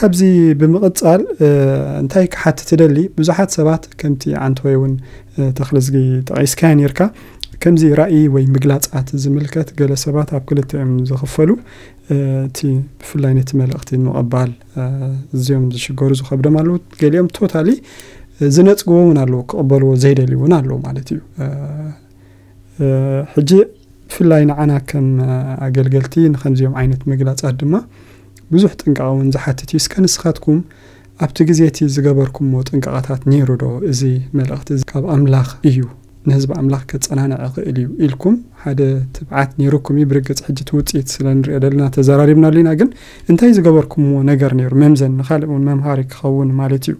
ኣብዚ ብምቕጻል እንታይ ክሓትት እደሊ፣ ብዙሓት ሰባት ከምቲ ዓንተወይ እውን ተኽልዝጊ ጠቒስካዮ ነርካ፣ ከምዚ ራእይ ወይ ምግላጻት ዝምልከት ገለ ሰባት ኣብ ክልተ እዮም ዝኽፈሉ። እቲ ብፍላይ ነቲ መልእኽቲ ንምቕባል እዚኦም ዝሽገሩ ዝኸብዶም ኣለዉ። ገሊኦም ቶታሊ ዝነጽግዎ እውን ኣለዉ፣ ክቕበልዎ ዘይደልዩ እውን ኣለዉ ማለት እዩ። ሕጂ ብፍላይ ንዓና ከም ኣገልገልቲ ንከምዚኦም ዓይነት ምግላጻት ድማ ብዙሕ ጥንቃቐ እውን ዝሓትት እዩ። እስከ ንስኻትኩም ኣብቲ ግዜ እቲ ዝገበርኩምዎ ጥንቃቐታት ነይሩ ዶ? እዚ መልእኽቲ እዚ ካብ ኣምላኽ እዩ፣ ንህዝቢ ኣምላኽ ከጸናንዕ ይኽእል እዩ ኢልኩም ሓደ ትብዓት ነይሩኩም እዩ። ብርግጽ ሕጂ እቲ ውጽኢት ስለ ንሪኦ ዘለና ተዘራሪብናሉ ኢና፣ ግን እንታይ ዝገበርኩምዎ ነገር ነይሩ? መምዘኒ ንኻልእ እውን መምሃሪ ክኸውን ማለት እዩ።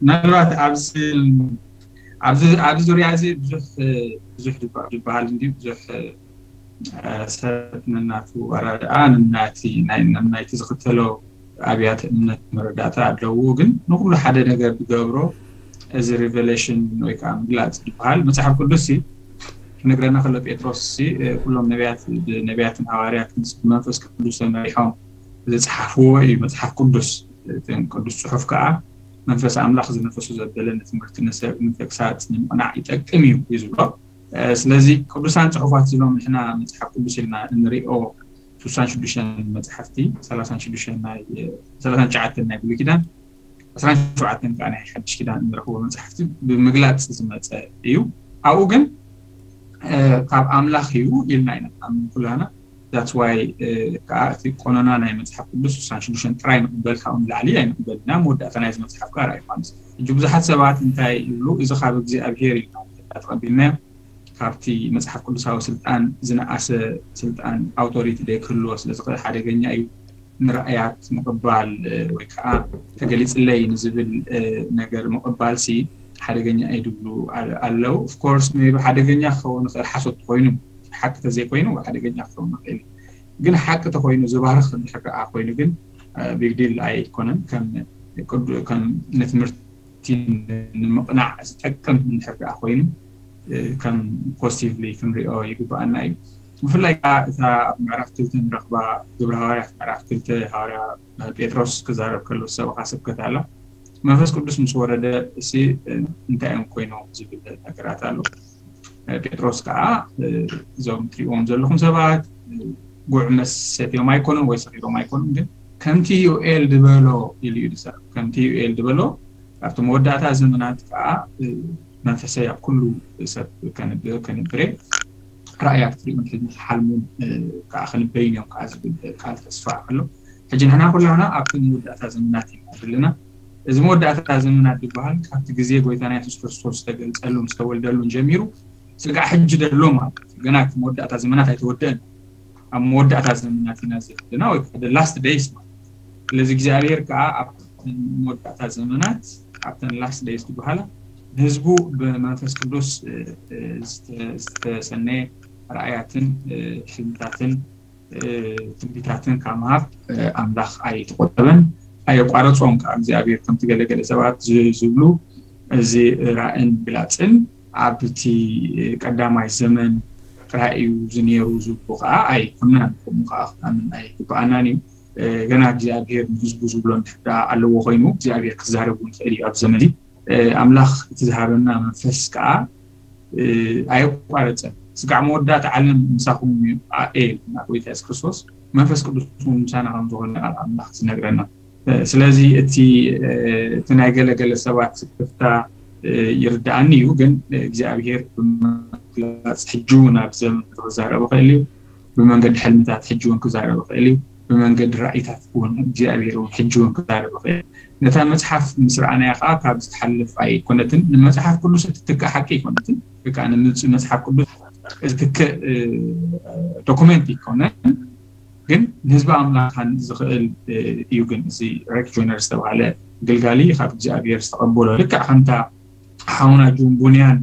ምናልባት ኣብዚ ኣብዚ ኣብዚ ዙርያ እዚ ብዙሕ ብዙሕ ዝበሃል እንዲ ብዙሕ ሰብ ነናቱ ኣራድኣ ነናቲ ናይ ነናይቲ ዝኽተሎ ኣብያተ እምነት መረዳእታ ኣለዎ። ግን ንኩሉ ሓደ ነገር ዝገብሮ እዚ ሪቨሌሽን ወይ ከዓ ምግላፅ ዝበሃል መፅሓፍ ቅዱስ ሲ ክነግረና ከሎ ጴጥሮስ ሲ ኩሎም ነቢያት ብነቢያትን ሃዋርያትን ብመንፈስ ቅዱስ ተመሪሖም ዝፀሓፍዎ እዩ መፅሓፍ ቅዱስ። እተን ቅዱስ ፅሑፍ ከዓ መንፈስ ኣምላኽ ዝነፈሱ ዘበለ ንትምህርቲ ንሰብ ንተግሳፅ ንምቕናዕ ይጠቅም እዩ እዩ ዝብሎ። ስለዚ ቅዱሳን ፅሑፋት ዝብሎም ንሕና መፅሓፍ ቅዱስ ኢልና እንሪኦ ስሳን ሽዱሽተን መፅሓፍቲ ሰላሳን ሽዱሽተን ናይ ሰላሳን ትሽዓተን ናይ ብሉይ ኪዳን ዕስራን ሸውዓተን ከዓ ናይ ሓድሽ ኪዳን እንረኽቦ መፅሓፍቲ ብምግላፅ ዝመፀ እዩ። ኣብኡ ግን ካብ ኣምላኽ እዩ ኢልና ኢና ንኣምን ኩላና። That's why ከዓ እቲ ቆኖና ናይ መፅሓፍ ቅዱስ ስሳን ሽዱሽተን ጥራይ ንቕበል ካብኡ ንላዕሊ ኣይንቕበል ኢና። መወዳእታ ናይዚ መፅሓፍ ከዓ ራእይ ዮሃንስ። ሕጂ ብዙሓት ሰባት እንታይ ይብሉ? እዚ ካብ እግዚኣብሄር እዩ ተቐቢልናዮ፣ ካብቲ መፅሓፍ ቅዱሳዊ ስልጣን ዝነኣሰ ስልጣን ኣውቶሪቲ ዘይክህልዎ ስለ ዝኽእል ሓደገኛ እዩ። ንራእያት ምቕባል ወይ ከዓ ተገሊፅለይ ንዝብል ነገር ምቕባል ሲ ሓደገኛ እዩ ድብሉ ኣለዉ። Of course maybe ሓደገኛ ክኸውን ይኽእል ሓሶት ተኮይኑ ሓቂ ተዘይኮይኑ ሓደገኛ ክኸውን ይኽእል እዩ። ግን ሓቂ ተኮይኑ ዝባርኽ እንድሕር ደኣ ኮይኑ ግን big deal ኣይኮነን። ከም ንትምህርቲ ንምቕናዕ ዝጠቅም እንድሕር ደኣ ኮይኑ ከም positively ክንሪኦ ይግባኣና እዩ። ብፍላይ ከዓ እታ ኣብ ምዕራፍ ክልተ ንረኽባ ግብረ ሃዋርያት ምዕራፍ ክልተ ሃዋርያ ጴጥሮስ ክዛረብ ከሎ ሰበኻ ስብከት ኣላ። መንፈስ ቅዱስ ምስ ወረደ እሲ እንታይ እዮም ኮይኖም ዝብል ነገራት ኣሎ። ጴጥሮስ ከዓ እዞም ትሪእዎም ዘለኹም ሰባት ጉዕ መስ ሰትዮም ኣይኮኑን ወይ ሰኺሮም ኣይኮኑን፣ ግን ከምቲ ዩኤል ዝበሎ ኢሉ እዩ ዝዛረብ። ከምቲ ዩኤል ዝበሎ ኣብቲ መወዳእታ ዘመናት ከዓ መንፈሰይ ኣብ ኩሉ ሰብ ከንብሬ ራእያት ክሪኡን ሕልሚ ክሓልሙን ከዓ ክንበይን እዮም ከዓ ዝብል ቃል ተስፋ ኣሎ። ሕጂ ንሕና ኩላና ኣብቲ መወዳእታ ዘመናት ኢና ዘለና። እዚ መወዳእታ ዘመናት ዝበሃል ካብቲ ግዜ ጎይታና የሱስ ክርስቶስ ዝተገልጸሉን ዝተወልደሉን ጀሚሩ ስጋዕ ሕጂ ደሎ ማለት እዩ። ገና እቲ መወዳእታ ዘመናት ኣይተወደአን። ኣብ መወዳእታ ዘመናት ኢና ዘለና ወይ ከዓ last days ማለት እዩ። ስለዚ እግዚኣብሔር ከዓ ኣብተን መወዳእታ ዘመናት ኣብተን last days ዝበሃላ ንህዝቡ ብመንፈስ ቅዱስ ዝተሰነየ ራእያትን ሕልምታትን ትንቢታትን ካብ ምሃብ ኣምላኽ ኣይተቆጠበን ኣየቋረፆም። ከዓ እግዚኣብሔር ከምቲ ገለገለ ሰባት ዝብሉ እዚ ራእን ግላፅን ኣብቲ ቀዳማይ ዘመን ጥራይ እዩ ዝነሩ ዝብሉ ከዓ ኣይኮናን። ከምኡ ከዓ ክትኣምን ኣይግበኣናን እዩ። ገና እግዚኣብሔር ንህዝቡ ዝብሎ እንድሕር ኣለዎ ኮይኑ እግዚኣብሔር ክዛረብ እውን ይኽእል እዩ ኣብ ዘመን ኣምላኽ እቲ ዝሃበና መንፈስ ከዓ ኣየቋረፀን። ስጋዕ መወዳእታ ዓለም ምሳኹም እዩ ኣኤ ኢልና ጎይታ የሱስ ክርስቶስ መንፈስ ቅዱስ እውን ምሳና ከም ዝኾነ ቃል ኣምላኽ ዝነግረና። ስለዚ እቲ እቲ ናይ ገለገለ ሰባት ስክፍታ ይርዳኣኒ እዩ፣ ግን እግዚኣብሔር ብምግላፅ ሕጂ እውን ኣብ ዘመን ክዛረብ ይኽእል እዩ። ብመንገዲ ሕልምታት ሕጂ እውን ክዛረብ ይኽእል እዩ። ብመንገዲ ራእይታት እውን እግዚኣብሔር እውን ሕጂ እውን ክዛረብ ይኽእል። ነታ መፅሓፍ ምስ ረኣናያ ከዓ ካብ ዝትሓልፍ ኣይኮነትን። ንመፅሓፍ ቅዱስ እትትክእ ሓቂ ኣይኮነትን። ወይ ከዓ ንምፅ መፅሓፍ ቅዱስ ዝትክእ ዶኩመንት ኣይኮነን። ግን ንህዝቢ ኣምላኽ ዝኽእል እዩ። ግን እዚ ሬክ ጆይነር ዝተባሃለ ኣገልጋሊ ካብ እግዚኣብሔር ዝተቐበሎ ልክዕ ከምታ ሓውና ጁን ቡንያን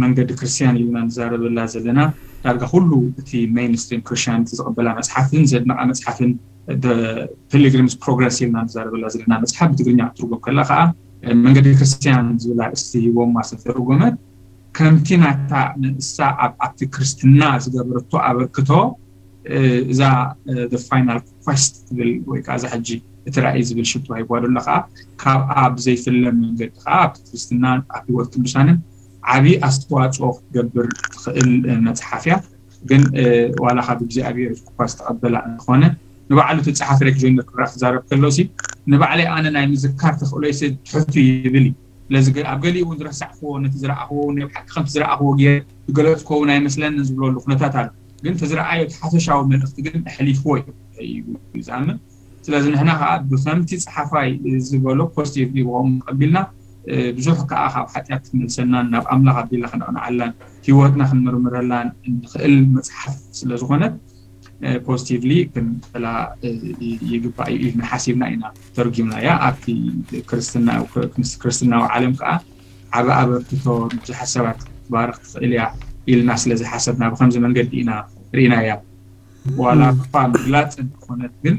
መንገዲ ክርስትያን ኢልና ንዛረበላ ዘለና ዳርጋ ኩሉ እቲ ሜይንስትሪም ክርስትያኒቲ ዝቕበላ መፅሓፍን ዘድነቓ መፅሓፍን ፒሊግሪምስ ፕሮግረስ ኢልና ንዛረበላ ዘለና መፅሓፍ ብትግርኛ ክትርጎም ከላ ከዓ መንገዲ ክርስትያን ዝብል ኣርእስቲ ሂቦማ ዝተተርጎመት ከምቲ ናታ ንእሳ ኣብ ኣብቲ ክርስትና ዝገበረቶ ኣበርክቶ እዛ ፋይናል ኳስት ትብል ወይ ከዓ እዛ ሕጂ እቲ ራእይ ዝብል ሽቶ ሂብዋ ዘሎ ከዓ ካብኣ ብዘይፍለ መንገዲ ከዓ ኣብቲ ክርስትናን ኣብ ህይወት ቅዱሳንን ዓብዪ ኣስተዋፅኦ ክትገብር ትኽእል መፅሓፍ እያ። ግን ዋላ ካብ እግዚኣብሔር እኳ ዝተቐበላ እንተኾነ ንባዕሉ እቲ ፀሓፊ ሬክ ጆይነር ክረኣ ክዛረብ ከሎሲ ንባዕለይ ኣነ ናይ ምዝካር ተኽእሎይሲ ትሕቱ ይብል እዩ። ስለዚ ኣብ ገሊኡ እውን ዝረሳዕክዎ ነቲ ዝረኣኽዎ ናይ ብሓቂ ከምቲ ዝረኣኽዎ ገይረ ዝገለፅክዎ እውን ኣይመስለንን ዝብለሉ ኩነታት ኣሎ። ግን እቲ ዝረኣዮ እቲ ሓፈሻዊ መልእኽቲ ግን ኣሕሊፍዎ እዩ ዝኣምን። ስለዚ ንሕና ከዓ ብከምቲ ፀሓፋይ ዝበሎ ፖዚቲቭ ይብኦም ቀቢልና ብዙሕ ከዓ ካብ ሓጢኣት ክመልሰናን ናብ ኣምላኽ ኣቢልና ክነቕንዓላን ህይወትና ክንምርምረላን እንኽእል መፅሓፍ ስለዝኾነት ፖዚቲቭሊ ክንበላ ይግባእ እዩ ኢልና ሓሲብና ኢና ተርጊምናያ። ኣብቲ ክርስትናዊ ዓለም ከዓ ዓብ ኣበርክቶ ብዙሓት ሰባት ክትባርኽ ትኽእል እያ ኢልና ስለዝሓሰብና ብከምዚ መንገዲ ኢና ርኢናያ። ዋላ እኳ ምግላፅ እንተኾነት ግን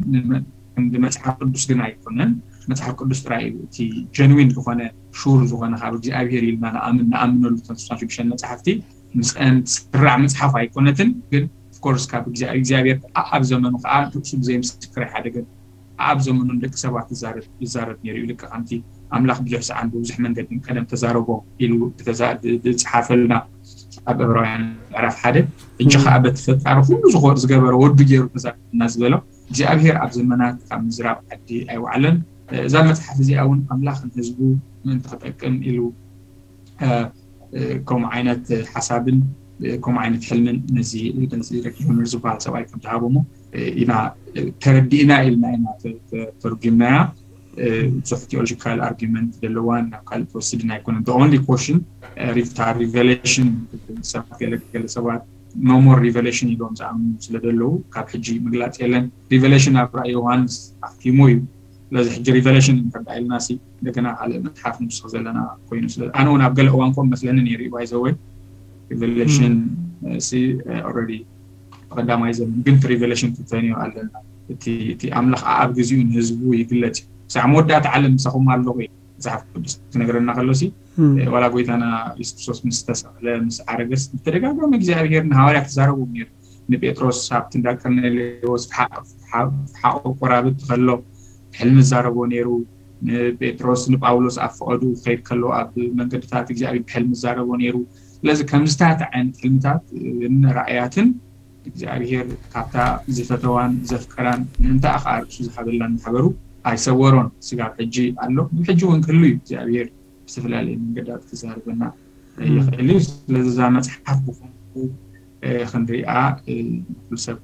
ክንዲ መፅሓፍ ቅዱስ ግን ኣይኮነን። መፅሓፍ ቅዱስ ጥራይ እዩ እቲ ጀንዊን ዝኾነ ሹር ዝኾነ ካብ እግዚኣብሄር ኢልና ንኣምን ንኣምነሉ ተስፋ ሽዱሽተ መፅሓፍቲ ምስአን ትስራዕ መፅሓፍ ኣይኮነትን። ግን ኦፍኮርስ ካብ እግዚኣብሔር ኣብ ዘመኑ ከዓ ርእሱ ብዘይ ምስክር ኣይሓደገን። ኣብ ዘመኑ ንደቂ ሰባት ይዛረብ ይዛረብ ነይሩ እዩ። ልክዕ ከምቲ ኣምላኽ ብዙሕ ሰዓን ብብዙሕ መንገድን ቀደም ተዛረቦም ኢሉ ዝፀሓፈልና ኣብ ዕብራውያን ምዕራፍ ሓደ እጂ ከዓ በቲ ፈጣሪ ኩሉ ዝገበረ ወዱ ገይሩ ተዛረበና ዝበሎ እግዚኣብሔር ኣብ ዘመናት ካብ ምዝራብ ዓዲ ኣይወዓለን። እዛ መፅሓፍ እዚኣ እውን ኣምላኽ ንህዝቡ ምእንቲ ክጠቅም ኢሉ ከምኡ ዓይነት ሓሳብን ከምኡ ዓይነት ሕልምን ነዚ ነዚ ሬክ ጆይነር ዝበሃል ሰብኣይ ከም ዝሃቦሞ ኢና ተረዲእና ኢልና ኢና ተርጉምናያ። ብዙሕ ቴኦሎጂካል ኣርጊመንት ዘለዋን ናብ ካልእ ትወስድን ኣይኮነን። ኦንሊ ኮሽን ሪታ ሪቨሌሽን ሰባት ገለገለ ሰባት ኖሞር ሪቨሌሽን ኢሎም ዝኣምኑ ስለ ዘለዉ ካብ ሕጂ ምግላፅ የለን። ሪቨሌሽን ኣብ ራእይ ዮሃንስ ኣክቲሙ እዩ። ስለዚ ሕጂ ሪቨሌሽን እንተዳ ኢልና ሲ እንደገና ካልእ መፅሓፍ ንውስኽ ዘለና ኮይኑ ስለ ኣነ እውን ኣብ ገለ እዋን ኮም መስለኒ ነይሩ እዩ ባይዘወይ ሪቨሌሽን ሲ ኦልሬዲ ብቀዳማይ ዘመን ግን እቲ ሪቨሌሽን ትተንዮ ኣለና። እቲ ኣምላኽ ኣብ ግዜኡ ንህዝቡ ይግለፅ እዩ። ሳዕ መወዳእታ ዓለም ምሳኹም ኣለኹ እዩ መፅሓፍ ቅዱስ ክነግረና ከሎ ሲ ዋላ ጎይታና የሱስ ክርስቶስ ምስ ተሰቕለ ምስ ዓረገስ ብተደጋጋሚ እግዚኣብሄር ንሃዋርያ ክዛረቡ ነይሩ። ንጴጥሮስ ኣብቲ እንዳ ቀርኔሌዎስ ፍሓቕ ቆራብት ከሎ ብሕልሚ ዛረቦ ነይሩ። ንጴጥሮስ ንጳውሎስ ኣብ ፈቐዱ ክኸይድ ከሎ ኣብ መንገድታት እግዚኣብሔር ብሕልሚ ዛረቦ ነይሩ። ስለዚ ከምዝታት ዓይነት ሕልምታት ራእያትን እግዚኣብሔር ካብታ ዝፈተዋን ዘፍቀራን ምእንታ ከዓ ርእሱ ዝሃበላን ማሕበሩ ኣይሰወሮን። ስጋብ ሕጂ ኣሎ፣ ሕጂ እውን ክህሉ እዩ። እግዚኣብሔር ብዝተፈላለየ መንገዳት ክዛርበና ይኽእል እዩ። ስለዚ እዛ መፅሓፍ ብኹምኡ ክንሪኣ ኩሉ ሰብ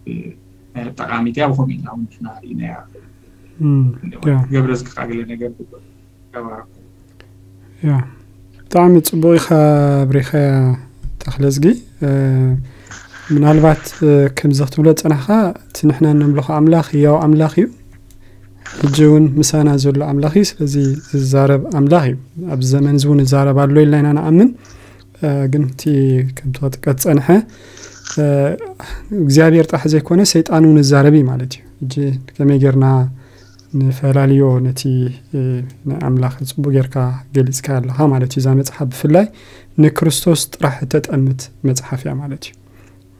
ጠቃሚት እያ። ብኸምኡ ኢና እውን ንሕና ርኢናያ። ገብረ ዝከ ገለ ነገር ተባረኩ። ያ ብጣዕሚ ፅቡቅ ኢኻ ኣብሪኻያ ተኽለዝጊ። ምናልባት ከምዚ ክትብሎ ዝፀናሕካ እቲ ንሕና ነምልኾ ኣምላኽ ህያው ኣምላኽ እዩ። ሕጂ እውን ምሳና ዘሎ ኣምላኽ እዩ። ስለዚ ዝዛረብ ኣምላኽ እዩ። ኣብዚ ዘመን እዚ እውን ይዛረብ ኣሎ ኢልና ኢና ንኣምን። ግን እቲ ከምቲ ክጥቀስ ዝፀንሐ እግዚኣብሔር ጥራሕ ዘይኮነ ሰይጣን እውን ይዛረብ እዩ ማለት እዩ። ሕጂ ከመይ ጌርና ንፈላልዮ ነቲ ንኣምላኽ ፅቡቅ ጌርካ ገሊፅካ ኣለኻ ማለት እዩ። እዛ መፅሓፍ ብፍላይ ንክርስቶስ ጥራሕ እተጠምት መፅሓፍ እያ ማለት እዩ።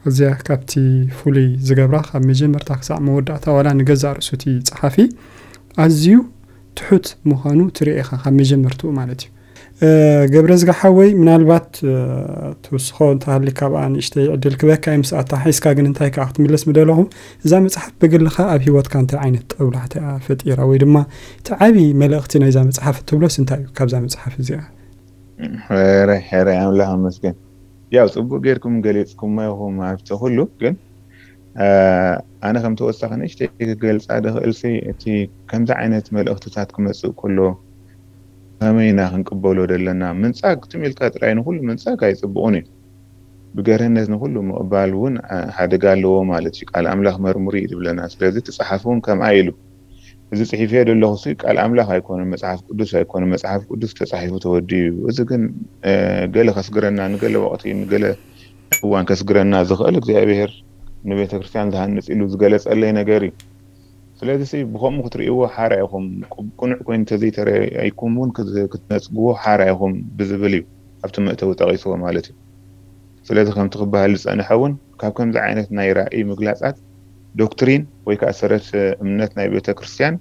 እዚኣ ካብቲ ፍሉይ ዝገብራ ካብ መጀመርታ ክሳዕ መወዳእታ ዋላ ንገዛእ ርእሱ እቲ ፀሓፊ ኣዝዩ ትሑት ምዃኑ ትርኢ ኢኻ ካብ መጀመርትኡ ማለት እዩ። ገብረ ዝጋሓወይ ምናልባት ትውስኾ እንተሃሊ ካብኣ ንእሽተይ ዕድል ክበካ እዩ ምስኣታ ሓይስካ ግን እንታይ ከዓ ክትምለስ ምደለኹ እዛ መፅሓፍ ብግልኻ ኣብ ህይወትካ እንታይ ዓይነት ጠውላሕታ እያ ፈጢራ ወይ ድማ እቲ ዓብዪ መልእኽቲ ናይዛ መፅሓፍ እትብሎስ እንታይ እዩ ካብዛ መፅሓፍ እዚኣ? ሕራይ ሕራይ ኣምላኽ ኣመስገን። ያው ፅቡቅ ጌርኩም ገሊፅኩሞ ኢኹም ኣብቲ ኩሉ ግን ኣነ ከም ተወሳኺ ንእሽተይ ክገልፃ ድኽእል ሲ እቲ ከምዚ ዓይነት መልእኽትታት ክመፅእ ከሎ ከመይ ኢና ክንቅበሎ ዘለና ምንፃግ ትም ኢልካ ጥራይ ንኩሉ ምንፃግ ኣይፅቡቅን እዩ። ብገርህነት ንኩሉ ምቕባል እውን ሓደጋ ኣለዎ ማለት እዩ። ቃል ኣምላኽ መርምሩ እዩ ዝብለና። ስለዚ እቲ ጸሓፊ እውን ከምኣ ኢሉ እዚ ጽሒፈዮ ዘለኹ ሲ ቃል ኣምላኽ ኣይኮነን፣ መጽሓፍ ቅዱስ ኣይኮነን። መጽሓፍ ቅዱስ ተጻሒፉ ተወዲኡ እዩ። እዚ ግን ገለ ከስግረና፣ ንገለ ወቕቲ፣ ንገለ እዋን ከስግረና ዝኽእል እግዚኣብሔር ንቤተ ክርስቲያን ዝሃንጽ ኢሉ ዝገለጸለይ ነገር እዩ። ስለዚ ሲ ብኸምኡ ክትርእይዎ ሓራ ኢኹም፣ ቅኑዕ ኮይኑ እንተዘይተረኣይኩም እውን ክትነጽግዎ ሓራ ኢኹም ብዝብል እዩ ኣብቲ መእተዊ ጠቒስዎ ማለት እዩ። ስለዚ ከምቲ ክበሃል ዝጸንሐ እውን ካብ ከምዚ ዓይነት ናይ ራእይ ምግላጻት ዶክትሪን ወይ ከዓ ሰረት እምነት ናይ ቤተ ክርስቲያን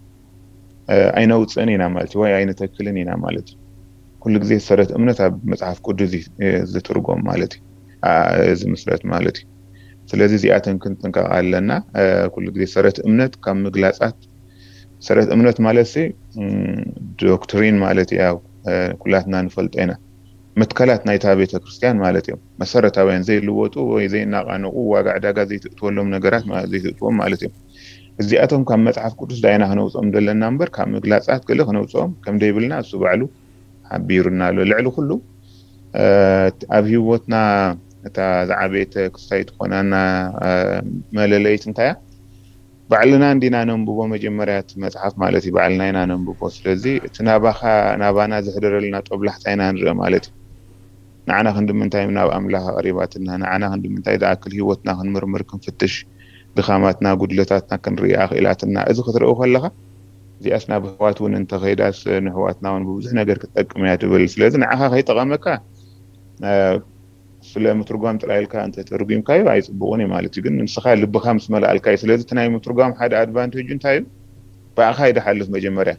ኣይነውፅእን ኢና ማለት እዩ፣ ወይ ኣይንተክልን ኢና ማለት እዩ። ኩሉ ግዜ ሰረት እምነት ኣብ መፅሓፍ ቅዱስ እዩ ዝትርጎም ማለት እዩ፣ ዝምስረት ማለት እዩ። ስለዚ እዚኣተን ክንጥንቀቕ ኣለና። ኩሉ ግዜ ሰረት እምነት ካብ ምግላፃት፣ ሰረት እምነት ማለት ሲ ዶክትሪን ማለት እዩ። ኩላትና ንፈልጦ ኢና። መትከላት ናይታ ቤተ ክርስቲያን ማለት እዮም። መሰረታውያን ዘይልወጡ ወይ ዘይናቃነቁ፣ ዋጋ ዕዳጋ ዘይትእትወሎም ነገራት ዘይትእትዎም ማለት እዮም። እዚኣቶም ካብ መፅሓፍ ቅዱስ ዳይና ክነውፅኦም ዘለና እምበር ካብ ምግላፃት ገለ ክነውፅኦም ከም ደይብልና እሱ ባዕሉ ሓቢሩና ኣሎ። ልዕሊ ኩሉ ኣብ ህይወትና እታ ዝዓበየት ክስታይ ትኾናና መለለይት እንታይ እያ? ባዕልና እንዲና ነንብቦ መጀመርያ እቲ መፅሓፍ ማለት እዩ። ባዕልና ኢና ነንብቦ። ስለዚ እቲ ናባኻ ናባና ዝሕደረልና ጦብላሕታ ኢና ንርኢ ማለት እዩ። ንዓና ክንዲ ምንታይ ናብ ኣምላኽ ኣቕሪባትና፣ ንዓና ክንዲ ምንታይ ዝኣክል ህይወትና ክንምርምር ክንፍትሽ፣ ድኻማትና ጉድለታትና ክንርኢ ኣኽኢላትና። እዚ ክትርኢ ከለኻ እዚኣስ ናብ ኣሕዋት እውን እንተኸይዳስ ንኣሕዋትና እውን ብብዙሕ ነገር ክትጠቅም እያ ትብል። ስለዚ ንዓኻ ከይጠቐመካ ስለ ምትርጓም ጥራይ ኢልካ እንተተርጉምካዮ ኣይፅቡቕን እዩ ማለት እዩ። ግን ንስኻ ልብኻ ምስ መላእልካ እዩ። ስለዚ እቲ ናይ ምትርጓም ሓደ ኣድቫንቴጅ እንታይ እዩ? ብኣኻ ይድሓልፍ መጀመርያ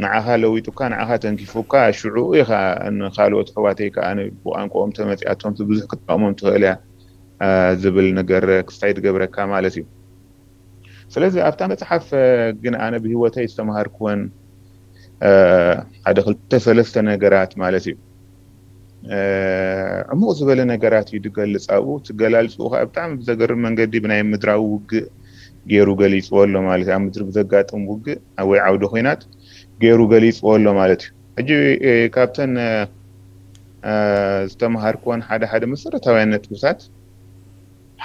ንዓኻ ለዊጡካ ንዓኻ ተንኪፉካ ሽዑ ኢኻ ንካልኦት ኣሕዋተይ ከዓ ብቋንቋኦም ተመፂኣቶም ብዙሕ ክትጠቕሞም ትኽእል እያ ዝብል ነገር ክስታይ ትገብረካ ማለት እዩ። ስለዚ ኣብታ መፅሓፍ ግን ኣነ ብህይወተይ ዝተምሃርኩወን ሓደ ክልተ ሰለስተ ነገራት ማለት እዩ። ዕሙቕ ዝበለ ነገራት እዩ ዝገልፅ ኣብኡ። ትገላልፅኡ ከዓ ብጣዕሚ ብዘገርም መንገዲ ብናይ ምድራዊ ውግእ ገይሩ ገሊፅዎ ኣሎ ማለት እዩ። ኣብ ምድሪ ብዘጋጥም ውግእ ወይ ዓውደ ኮይናት ገይሩ ገሊፅዎ ኣሎ ማለት እዩ። ሕጂ ካብተን ዝተምሃርኩወን ሓደ ሓደ መሰረታውያን ነጥብታት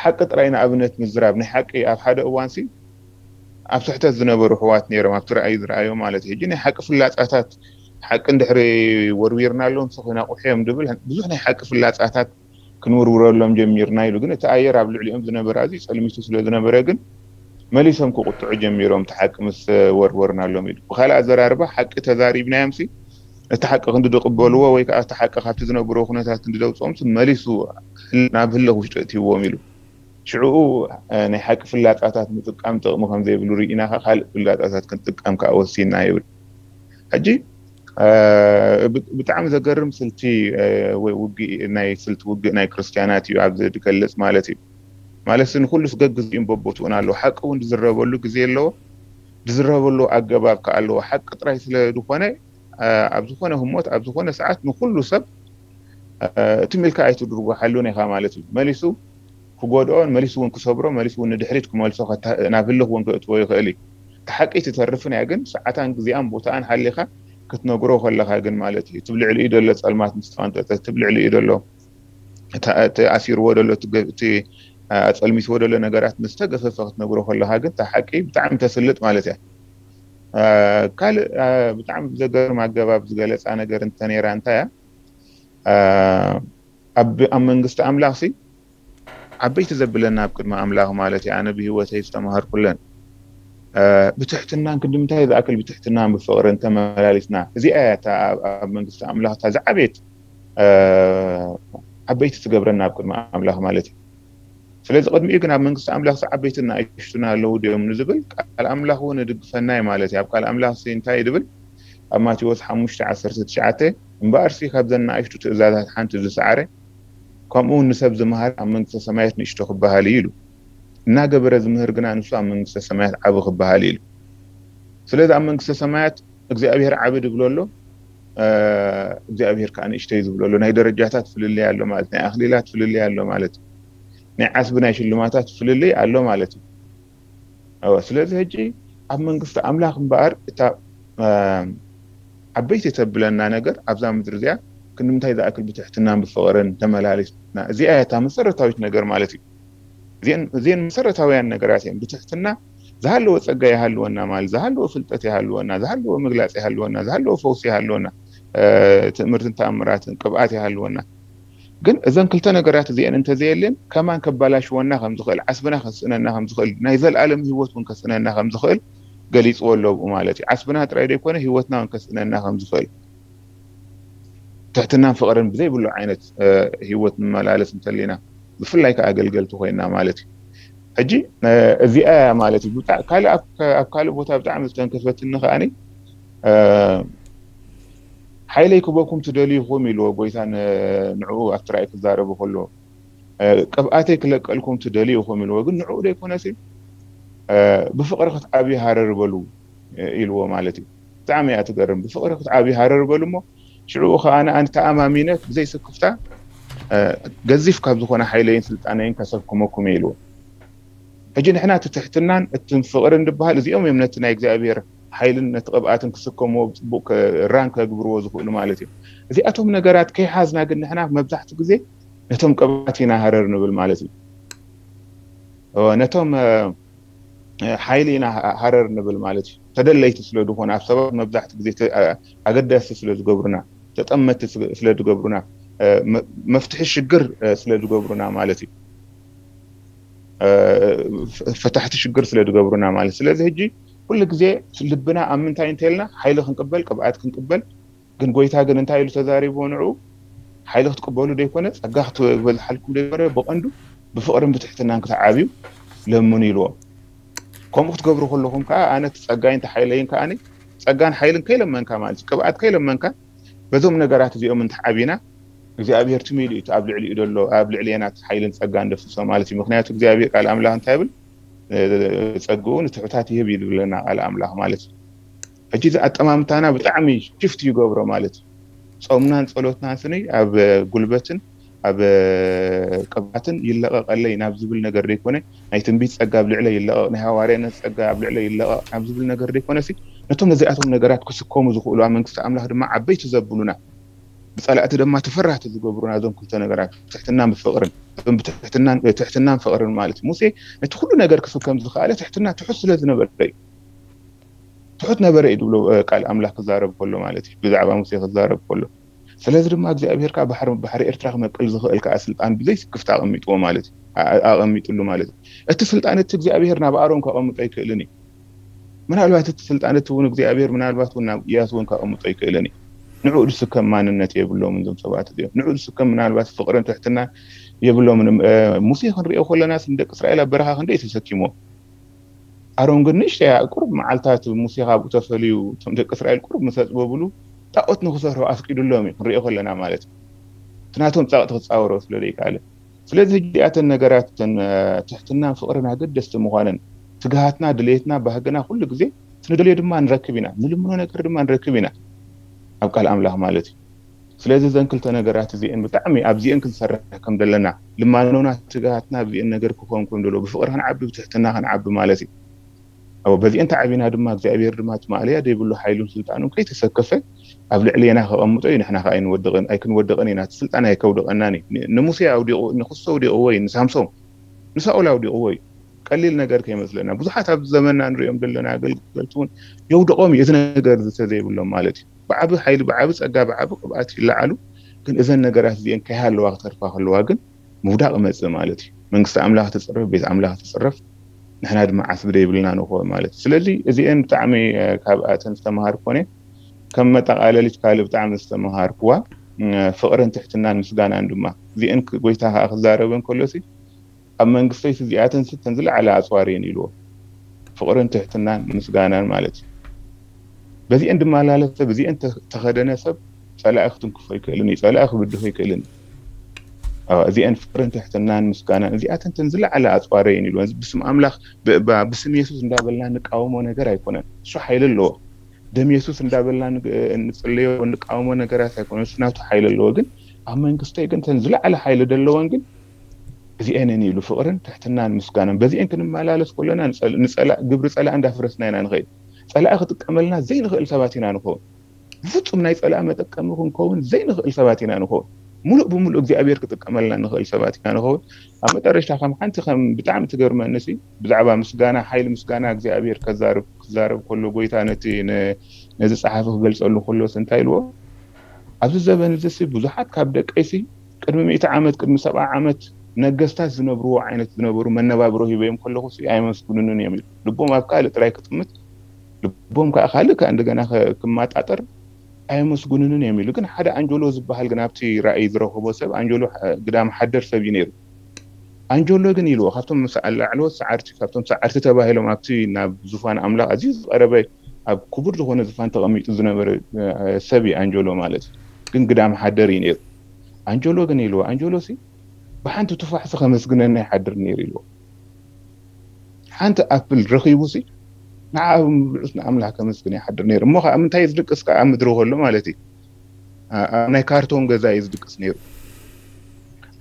ሓቂ ጥራይ ንኣብነት ምዝራብ ናይ ሓቂ ኣብ ሓደ እዋን ሲ ኣብ ስሕተት ዝነበሩ ኣሕዋት ነይሮም ኣብቲ ራእይ ዝረኣዮ ማለት እዩ። ሕጂ ናይ ሓቂ ፍላጻታት ሓቂ እንድሕሪ ወርዊርናሎም ሲ ክነቑሑ እዮም ድብል ብዙሕ ናይ ሓቂ ፍላጻታት ክንውርውረሎም ጀሚርና ኢሉ። ግን እቲ ኣየር ኣብ ልዕሊኦም ዝነበረ ኣዝዩ ጸልሚቱ ስለ ዝነበረ ግን መሊሶም ክቁጥዑ ጀሚሮም እቲ ሓቂ ምስ ወርወርናሎም ኢሉ። ብኻልእ ኣዘራርባ ሓቂ ተዛሪብናዮም ሲ እቲ ሓቂ ክንዲ ዝቕበልዎ ወይ ከዓ እቲ ሓቂ ካብቲ ዝነብሮ ኩነታት ክንዲ ዘውፅኦም ሲ መሊሱ ናብ ህልኽ ውሽጢ እትይዎም ኢሉ። ሽዕኡ ናይ ሓቂ ፍላጻታት ምጥቃም ጥቕሚ ከም ዘይብሉ ርኢና ካልእ ፍላጻታት ክንጥቀም ከዓ ወሲና ይብል። ሕጂ ብጣዕሚ ዘገርም ስልቲ ውግእ ናይ ስልቲ ውግእ ናይ ክርስትያናት እዩ ኣብዚ ዝገልጽ ማለት እዩ። ማለት ንኩሉ ስገግ ግዜኡን በቦትኡን ኣለዎ። ሓቂ እውን ዝዝረበሉ ግዜ ኣለዎ፣ ዝዝረበሉ ኣገባብ ከዓ ኣለዎ። ሓቂ ጥራይ ስለ ዝኾነ ኣብ ዝኾነ ህሞት ኣብ ዝኾነ ሰዓት ንኩሉ ሰብ እቲ ሚልካ ኣይትድርጎ ሓሉን ኢኻ ማለት እዩ። መሊሱ ክጎድኦን መሊሱ እውን ክሰብሮ መሊሱ እውን ንድሕሪት ክመልሶ ናብ ህልኽ እውን ክእትዎ ይኽእል እዩ። እቲ ሓቂ ትተርፍን እያ ግን ሰዓታን ግዜኣን ቦታኣን ሓሊኻ ክትነግሮ ከለኻ ግን ማለት እዩ እቲ ብልዕሊኡ ዘሎ ጸልማት ምስ ተቐንጠጠ እቲ ብልዕሊኡ ዘሎ ተኣሲርዎ ዘሎ እቲ ኣጸልሚትዎ ዘሎ ነገራት ምስ ተገፈፈ ክትነግሮ ከለኻ ግን እታ ሓቂ ብጣዕሚ ተስልጥ ማለት እያ። ካልእ ብጣዕሚ ብዘገርም ኣገባብ ዝገለጻ ነገር እንተነይራ እንታይ እያ? ኣብ መንግስቲ ኣምላኽ ሲ ዓበይቲ ዘብለና ኣብ ቅድሚ ኣምላኽ ማለት እዩ። ኣነ ብህይወተይ ዝተማሃርኩለን ብትሕትናን ክንዲ ምንታይ ዝኣክል ብትሕትናን ብፍቕርን ተመላሊስና እዚኣ እያ እታ ኣብ መንግስቲ ኣምላኽ እታ ዝዓበየት ዓበይቲ ትገብረና ኣብ ቅድሚ ኣምላኽ ማለት እዩ። ስለዚ ቅድሚኡ ግን ኣብ መንግስቲ ኣምላኽ ዓበይትን ንኣሽቱን ኣለዉ ድዮም ንዝብል ቃል ኣምላኽ እውን ይድግፈና እዩ ማለት እዩ። ኣብ ቃል ኣምላኽ እንታይ ይብል? ኣብ ማቴዎስ ሓሙሽተ ዓሰርተ ትሽዓተ እምበኣርሲ ካብዘን ንኣሽቱ ትእዛዛት ሓንቲ ዝሰዓረ ከምኡ እውን ንሰብ ዝመሃር ኣብ መንግስተ ሰማያት ንእሽቶ ክበሃል እዩ ኢሉ። እናገበረ ዝምህር ግና ንሱ ኣብ መንግስተ ሰማያት ዓቢ ክበሃል እዩ ኢሉ። ስለዚ ኣብ መንግስተ ሰማያት እግዚኣብሔር ዓቢ ድብሎ ኣሎ እግዚኣብሔር ከዓ ንእሽተይ ዝብሎ ኣሎ። ናይ ደረጃታት ፍልልይ ኣሎ ማለት ናይ ኣክሊላት ፍልልይ ኣሎ ማለት ናይ ዓስቢ ናይ ሽልማታት ፍልልይ ኣሎ ማለት እዩ። ስለዚ ሕጂ ኣብ መንግስቲ ኣምላኽ እምበኣር እታ ዓበይቲ ተብለና ነገር ኣብዛ ምድሪ እዚኣ ክንምንታይ ዝኣክል ብትሕትናን ብፍቕርን ተመላሊስና እዚኣ እያ እታ መሰረታዊት ነገር ማለት እዩ። እዚአን መሰረታውያን ነገራት እየን። ብትሕትና ዝሃለወ ጸጋ ይሃልወና ማለት ዝሃለወ ፍልጠት ይሃልወና ዝሃለወ ምግላጽ ይሃልወና ዝሃለወ ፈውሲ ይሃልወና ትእምርትን ተኣምራትን ቅብኣት ይሃልወና። ግን እዘን ክልተ ነገራት እዚአን እንተዘየልን ከማን ከባላሽወና ከም ዝኽእል ዓስብና ከስእነና ከም ዝኽእል ናይ ዘለኣለም ህይወት እውን ከስእነና ከም ዝኽእል ገሊፅዎ ኣሎ ብኡ ማለት እዩ። ዓስብና ጥራይ ዘይኮነ ህይወትና እውን ከስእነና ከም ዝኽእል ትሕትናን ፍቕርን ብዘይብሉ ዓይነት ህይወት ንመላለስ እንተሊና ብፍላይ ከዓ ኣገልገልቲ ኮይና ማለት እዩ። ሕጂ እዚኣ ማለት እዩ። ካልእ ኣብ ካልእ ቦታ ብጣዕሚ ዝተንከፈትኒ ከዓኒ ሓይለይ ክበኩም ትደልዩ ኢኹም ኢልዎ ጎይታ ንዕኡ ኣብቲ ራእይ ክዛረቡ ከሎ፣ ቅብኣተይ ክለቀልኩም ትደልዩ ኢኹም ኢልዎ። ግን ንዕኡ ዘይኮነሲ ብፍቕሪ ክትዓብዩ ሃረር በሉ ኢልዎ ማለት እዩ። ብጣዕሚ እያ ትገርም። ብፍቕሪ ክትዓብዩ ሃረር በሉ እሞ ሽዑ ከኣ ኣነ ተኣማሚነ ብዘይ ስክፍታ ገዚፍ ካብ ዝኾነ ሓይለይን ስልጣነይን ከሰክመኩም እየ ኢልዎ። ሕጂ ንሕና እቲ ትሕትናን እቲ ፍቕርን ዝበሃል እዚኦም እዮም ነቲ ናይ እግዚኣብሔር ሓይልን ነቲ ቅብኣትን ክስከምዎ ብፅቡቅ ራን ከግብርዎ ዝኽእሉ ማለት እዩ። እዚኣቶም ነገራት ከይሓዝና ግን ንሕና መብዛሕትኡ ግዜ ነቶም ቅብኣት ኢና ሃረር ንብል ማለት እዩ። ነቶም ሓይሊ ኢና ሃረር ንብል ማለት እዩ። ተደለይቲ ስለ ዝኾኑ ኣብ ሰባት መብዛሕትኡ ግዜ ኣገደስቲ ስለ ዝገብሩና፣ ተጠመቲ ስለ ዝገብሩና፣ መፍትሒ ሽግር ስለ ዝገብሩና ማለት እዩ። ፈታሕቲ ሽግር ስለ ዝገብሩና ማለት። ስለዚ ሕጂ ኩሉ ግዜ ልብና ኣብ ምንታይ እንተልና ሓይሊ ክንቅበል ቅብኣት ክንቅበል ግን ጎይታ ግን እንታይ ኢሉ ተዛሪብዎ ንዕኡ? ሓይሊ ክትቅበሉ ዘይኮነ ጸጋ ክትበዝሓልኩም ዘይኮነ ብቐንዱ ብፍቕርን ብትሕትናን ክትዓብዩ ለምኑ ኢልዎም። ከምኡ ክትገብሩ ከለኹም ከዓ ኣነ እቲ ጸጋይን እቲ ሓይለይን ከዓ ጸጋን ሓይልን ከይለመንካ ማለት እዩ። ቅብኣት ከይለመንካ በዞም ነገራት እዚኦም እንትዓቢና እግዚኣብሔር ትሚሉ እዩ ኣብ ልዕሊኡ ዘሎ ኣብ ልዕሊና ሓይልን ጸጋን ደፍሶ ማለት እዩ። ምክንያቱ እግዚኣብሔር ቃል ኣምላኽ እንታይ ይብል? ጸግኡ ንትሑታት ይህብ እዩ ዝብለና ቃል ኣምላኽ ማለት እዩ። ሕጂ እዚ ኣጠማምታና ብጣዕሚ ሽፍት ይገብሮ ማለት እዩ። ጾምናን ጸሎትናን ስኒ ኣብ ጉልበትን ኣብ ቅብኣትን ይለቐቐለይ ናብ ዝብል ነገር ዘይኮነ ናይ ትንቢት ጸጋ ኣብ ልዕለ ይለቐቕ ናይ ሃዋርያነት ጸጋ ኣብ ልዕለ ይለቐቕ ናብ ዝብል ነገር ዘይኮነ ሲ ነቶም ነዚኣቶም ነገራት ክስከሙ ዝኽእሉ ኣብ መንግስቲ ኣምላኽ ድማ ዓበይቲ ዘብሉና ብጸላእቲ ድማ ተፈራህቲ ዝገብሩና እዞም ክልተ ነገራት ትሕትናን ብፍቕርን ትሕትናን ፍቕርን ማለት እዩ። ሙሴ ነቲ ኩሉ ነገር ክስከም ዝኸኣለ ትሕትና ትሑት ስለ ዝነበረ እዩ። ትሑት ነበረ እዩ ዝብሎ ቃል ኣምላኽ ክዛረብ ከሎ ማለት እዩ። ብዛዕባ ሙሴ ክዛረብ ከሎ ስለዚ ድማ እግዚኣብሔር ከዓ ባሕሪ ኤርትራ ክመቅል ዝኽእል ከዓ ስልጣን ብዘይ ስክፍታ ኣቐሚጥዎ ማለት እዩ። ኣቐሚጥሉ ማለት እዩ። እቲ ስልጣን እቲ እግዚኣብሔር ናብ ኣሮን ከቐምጦ ኣይክእልን እዩ። ምናልባት እቲ ስልጣን እቲ እውን እግዚኣብሔር ምናልባት እውን ናብ እያሱ እውን ከቐምጦ ኣይክእልን እዩ። ንዕኡ ዝስከም ማንነት የብሎምን እዞም ሰባት እዚኦም። ንዕኡ ዝስከም ምናልባት ፍቕርን ትሕትናን የብሎምን። ሙሴ ክንሪኦ ከለና ንደቂ እስራኤል ኣብ በረኻ ክንደይ ተሰኪሞ ኣሮን ግን ንእሽተይ ቁሩብ መዓልታት ሙሴ ካብኡ ተፈልዩ እቶም ደቂ እስራኤል ቁሩብ ምስ ኣፅበብሉ ጣኦት ንክሰርሑ ኣፍቂዱሎም እዩ ክንሪኦ ከለና ማለት እዩ። እቲ ናቶም ፀቕጢ ክፃወሮ ስለ ዘይከኣለ ስለዚ ሕጂ እዚኣተን ነገራት እተን ትሕትናን ፍቕርን ኣገደስቲ ምዃነን ትግሃትና ድሌትና ባህግና ኩሉ ግዜ እቲ ንደልዮ ድማ ንረክብ ኢና ንልምኖ ነገር ድማ ንረክብ ኢና ኣብ ቃል ኣምላኽ ማለት እዩ። ስለዚ እዘን ክልተ ነገራት እዚአን ብጣዕሚ ኣብዚአን ክንሰርሕ ከም ዘለና ልማኖና ትግሃትና ኣብዚአን ነገር ክኾን ከም ደሎ ብፍቕሪ ክንዓቢ ብትሕትና ክንዓቢ ማለት እዩ። ኣብ በዚአን ተዓቢና ድማ እግዚኣብሔር ድማ እቲ ማእለያ ዘይብሉ ሓይሉን ስልጣኑን ከይተሰከፈ ኣብ ልዕሌና ከቐምጦ እዩ። ንሕና ከዓ ኣይንወድቕን ኣይክንወድቕን ኢና። እቲ ስልጣን ኣይከውድቐናን እዩ። ንሙሴ ኣውዲቑ ንክሶ ኣውዲቕዎ እዩ። ንሳምሶም ንሳኦል ኣውዲቕዎ እዩ። ቀሊል ነገር ከይመስለና ብዙሓት ኣብዚ ዘመንና ንሪኦም ዘለና ኣገልገልቲ እውን የውድቖም እዩ እዚ ነገር ዝተዘይብሎም ማለት እዩ። ብዓቢ ሓይሊ ብዓቢ ጸጋ ብዓቢ ቅብኣት ይለዓሉ። ግን እዘን ነገራት እዚአን ከይሃለዋ ክተርፋ ከለዋ ግን ምውዳቕ ይመጽእ ማለት እዩ። መንግስቲ ኣምላኽ ትጽረፍ፣ ቤት ኣምላኽ ትጽረፍ፣ ንሕና ድማ ዓስቢ ዘይብልና ንኾን ማለት እዩ። ስለዚ እዚአን ብጣዕሚ ካብኣተን ዝተምሃርኮን እየ። ከም መጠቓለሊት ካልእ ብጣዕሚ ዝተምሃርክዋ ፍቕርን ትሕትናን ምስጋናን ድማ እዚአን ጎይታ ከዓ ክዛረበን ከሎሲ ኣብ መንግስተይሲ እዚኣተንሲ እተን ዝለዓለ ኣፅዋር እየን ኢልዎ። ፍቕርን ትሕትናን ምስጋናን ማለት እዩ። በዚአን ዝመላለስ ሰብ እዚአን ተኸደነ ሰብ ፀላኢ ክትንክፎ ኣይክእልን እዩ። ፀላኢ ክብድሆ ኣይክእልን እዩ። እዚአን ፍቕርን ትሕትናን ምስጋናን እዚኣተን እተን ዝለዓለ ኣፅዋር እየን ኢልዎ። ብስም ኣምላኽ ብስም የሱስ እንዳበልና ንቃወሞ ነገር ኣይኮነን። እሱ ሓይሊ ኣለዎ። ደም የሱስ እንዳበልና ንፅለዮ ንቃወሞ ነገራት ኣይኮነን። እሱ ናቱ ሓይሊ ኣለዎ። ግን ኣብ መንግስተይ ግን እተን ዝለዓለ ሓይሊ ዘለወን ግን እዚአንን ኢሉ ፍቕርን ትሕትናን ምስጋናን በዚአን ክንመላለስ ከሎና ግብሪ ፀላእ እንዳፍረስና ኢና ንኸይድ። ፀላኢ ክጥቀመልና ዘይንኽእል ሰባት ኢና ንኸውን። ብፍፁም ናይ ፀላኢ መጠቀሚ ክንከውን ዘይንኽእል ሰባት ኢና ንኸውን። ሙሉእ ብሙሉእ እግዚኣብሔር ክጥቀመልና ንኽእል ሰባት ኢና ንኸውን። ኣብ መጠረሽታ ከም ሓንቲ ከም ብጣዕሚ ትገርመኒ ሲ ብዛዕባ ምስጋና ሓይሊ ምስጋና እግዚኣብሔር ከዛርብ ክዛረብ ከሎ ጎይታ ነቲ ነዚ ፀሓፊ ክገልፀሉ ከሎስ እንታይ ኢልዎ? ኣብዚ ዘበን እዚ ሲ ብዙሓት ካብ ደቀይ ሲ ቅድሚ ሚእቲ ዓመት ቅድሚ ሰብዓ ዓመት ነገስታት ዝነብርዎ ዓይነት ዝነበሩ መነባብሮ ሂበዮም ከለኹ ሲ ኣየመስግኑንን እዮም ኢሉ። ልቦም ኣብ ካልእ ጥራይ ክጥምት ልቦም ከዓ ካልእ ከዓ እንደገና ክማጣጠር ኣየመስግኑንን እዮም ኢሉ። ግን ሓደ ኣንጀሎ ዝበሃል ግን ኣብቲ ራእይ ዝረኸቦ ሰብ ኣንጀሎ ግዳም ሓደር ሰብ እዩ ነይሩ። ኣንጀሎ ግን ኢልዎ ካብቶም ላዕለዎት ሰዓርቲ፣ ካብቶም ሰዓርቲ ተባሂሎም ኣብቲ ናብ ዙፋን ኣምላኽ ኣዝዩ ዝቐረበ ኣብ ክቡር ዝኾነ ዙፋን ተቐሚጡ ዝነበረ ሰብ እዩ ኣንጀሎ ማለት እዩ። ግን ግዳም ሓደር እዩ ነይሩ። ኣንጀሎ ግን ኢልዎ ኣንጀሎ ሲ ብሓንቲ ቱፋሕሲ ከመስግነና ይሓድር ነይሩ ኢልዎ። ሓንቲ ኣፕል ረኺቡ ሲ ንዓ ብብልዑስ ንኣምላኽ ከመስግን ይሓድር ነይሩ። እሞ ከዓ ምንታይ ዝድቅስ ከዓ ምድሪ ከሎ ማለት እዩ። ኣብ ናይ ካርቶን ገዛ እዩ ዝድቅስ ነይሩ።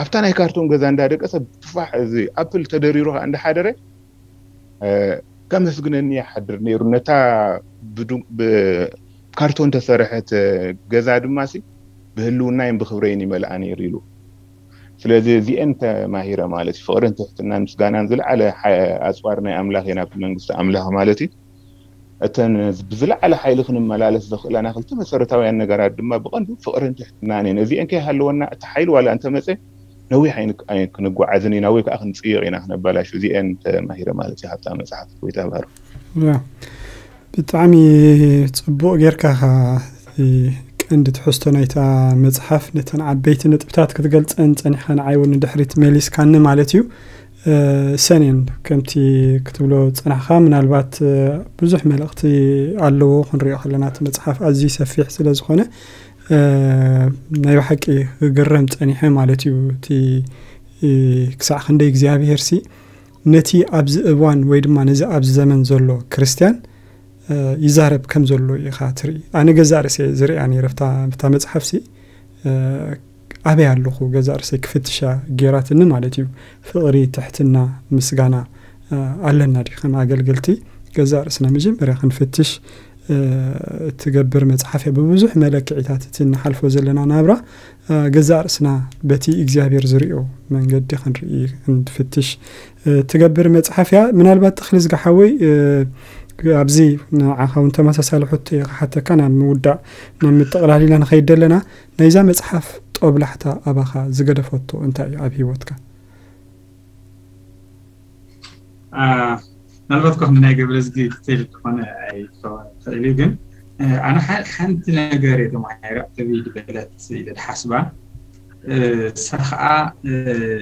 ኣብታ ናይ ካርቶን ገዛ እንዳደቀሰ ቱፋሕ እዚ ኣፕል ተደሪሩ ከዓ እንዳሓደረ ከመስግነኒ ይሓድር ነይሩ። ነታ ብካርቶን ተሰርሐት ገዛ ድማ ሲ ብህልውናይን ብክብረይን ይመልኣ ነይሩ ኢሉ። ስለዚ እዚአን ተማሂረ ማለት እዩ። ፍቕርን ትሕትናን ምስጋናን ዝለዓለ ኣፅዋር ናይ ኣምላኽ እየን ኣብቲ መንግስቲ ኣምላኽ ማለት እዩ። እተን ብዝለዓለ ሓይሊ ክንመላለስ ዘኽእላና ክልተ መሰረታውያን ነገራት ድማ ብቐንዱ ፍቕርን ትሕትናን እየን። እዚአን ከይሃለወና እቲ ሓይሊ ዋላ እንተመፀ ነዊሕ ክንጓዓዝን ኢና ወይ ከዓ ክንፅይቕ ኢና ክነባላሹ። እዚአን ተማሂረ ማለት እዩ። ሃብታ መፅሓፍ ወይ ተባሩ ብጣዕሚ ፅቡቕ ጌርካ ኻ ቀንዲ ትሕዝቶ ናይታ መፅሓፍ ነተን ዓበይቲ ነጥብታት ክትገልፀን ፀኒኻ ንዓይ እውን ንድሕሪት መሊስካኒ ማለት እዩ። ሰኔን ከምቲ ክትብሎ ፀናሕካ ምናልባት ብዙሕ መልእኽቲ ኣለዎ። ክንሪኦ ከለና እቲ መፅሓፍ ኣዝዩ ሰፊሕ ስለ ዝኾነ ናይ ብሓቂ ክግረም ፀኒሐ ማለት እዩ። እቲ ክሳዕ ክንደይ እግዚኣብሄር ሲ ነቲ ኣብዚ እዋን ወይ ድማ ነዚ ኣብዚ ዘመን ዘሎ ክርስትያን ይዛረብ ከም ዘሎ ኢኻ ትርኢ። ኣነ ገዛእ ርእሰ ዝሪኣ ነይረ ብታ መፅሓፍ ሲ ኣበይ ኣለኹ ገዛእ ርእሰይ ክፍትሻ ጌራትኒ ማለት እዩ። ፍቕሪ፣ ትሕትና፣ ምስጋና ኣለና ዲ ከም ኣገልገልቲ ገዛእ ርእስና መጀመርያ ክንፍትሽ ትገብር መፅሓፍ እያ። ብብዙሕ መለክዒታት እቲ እንሓልፎ ዘለና ናብራ ገዛእ ርእስና በቲ እግዚኣብሔር ዝሪኦ መንገዲ ክንርኢ ክንፍትሽ ትገብር መፅሓፍ እያ። ምናልባት ተኽሊ ዝጋሓወይ ኣብዚ ንዓኻ እውን ተመሳሳሊ ሕቶ እየ ክሓተካ ናብ ምውዳእ ናብ ምጥቕላል ኢና ንኸይድ ኣለና። ናይዛ መፅሓፍ ጦብላሕታ ኣባኻ ዝገደፈቶ እንታይ እዩ ኣብ ህይወትካ? ምናልባት ኮ ናይ ገብረዝጊ ክትል ዝኾነ ኣይትኽእል እዩ። ግን ኣነ ሓንቲ ነገር እየ ተማሂረ ዕብይ ዝበለት ኢለ ድሓስባ። እሳ ከዓ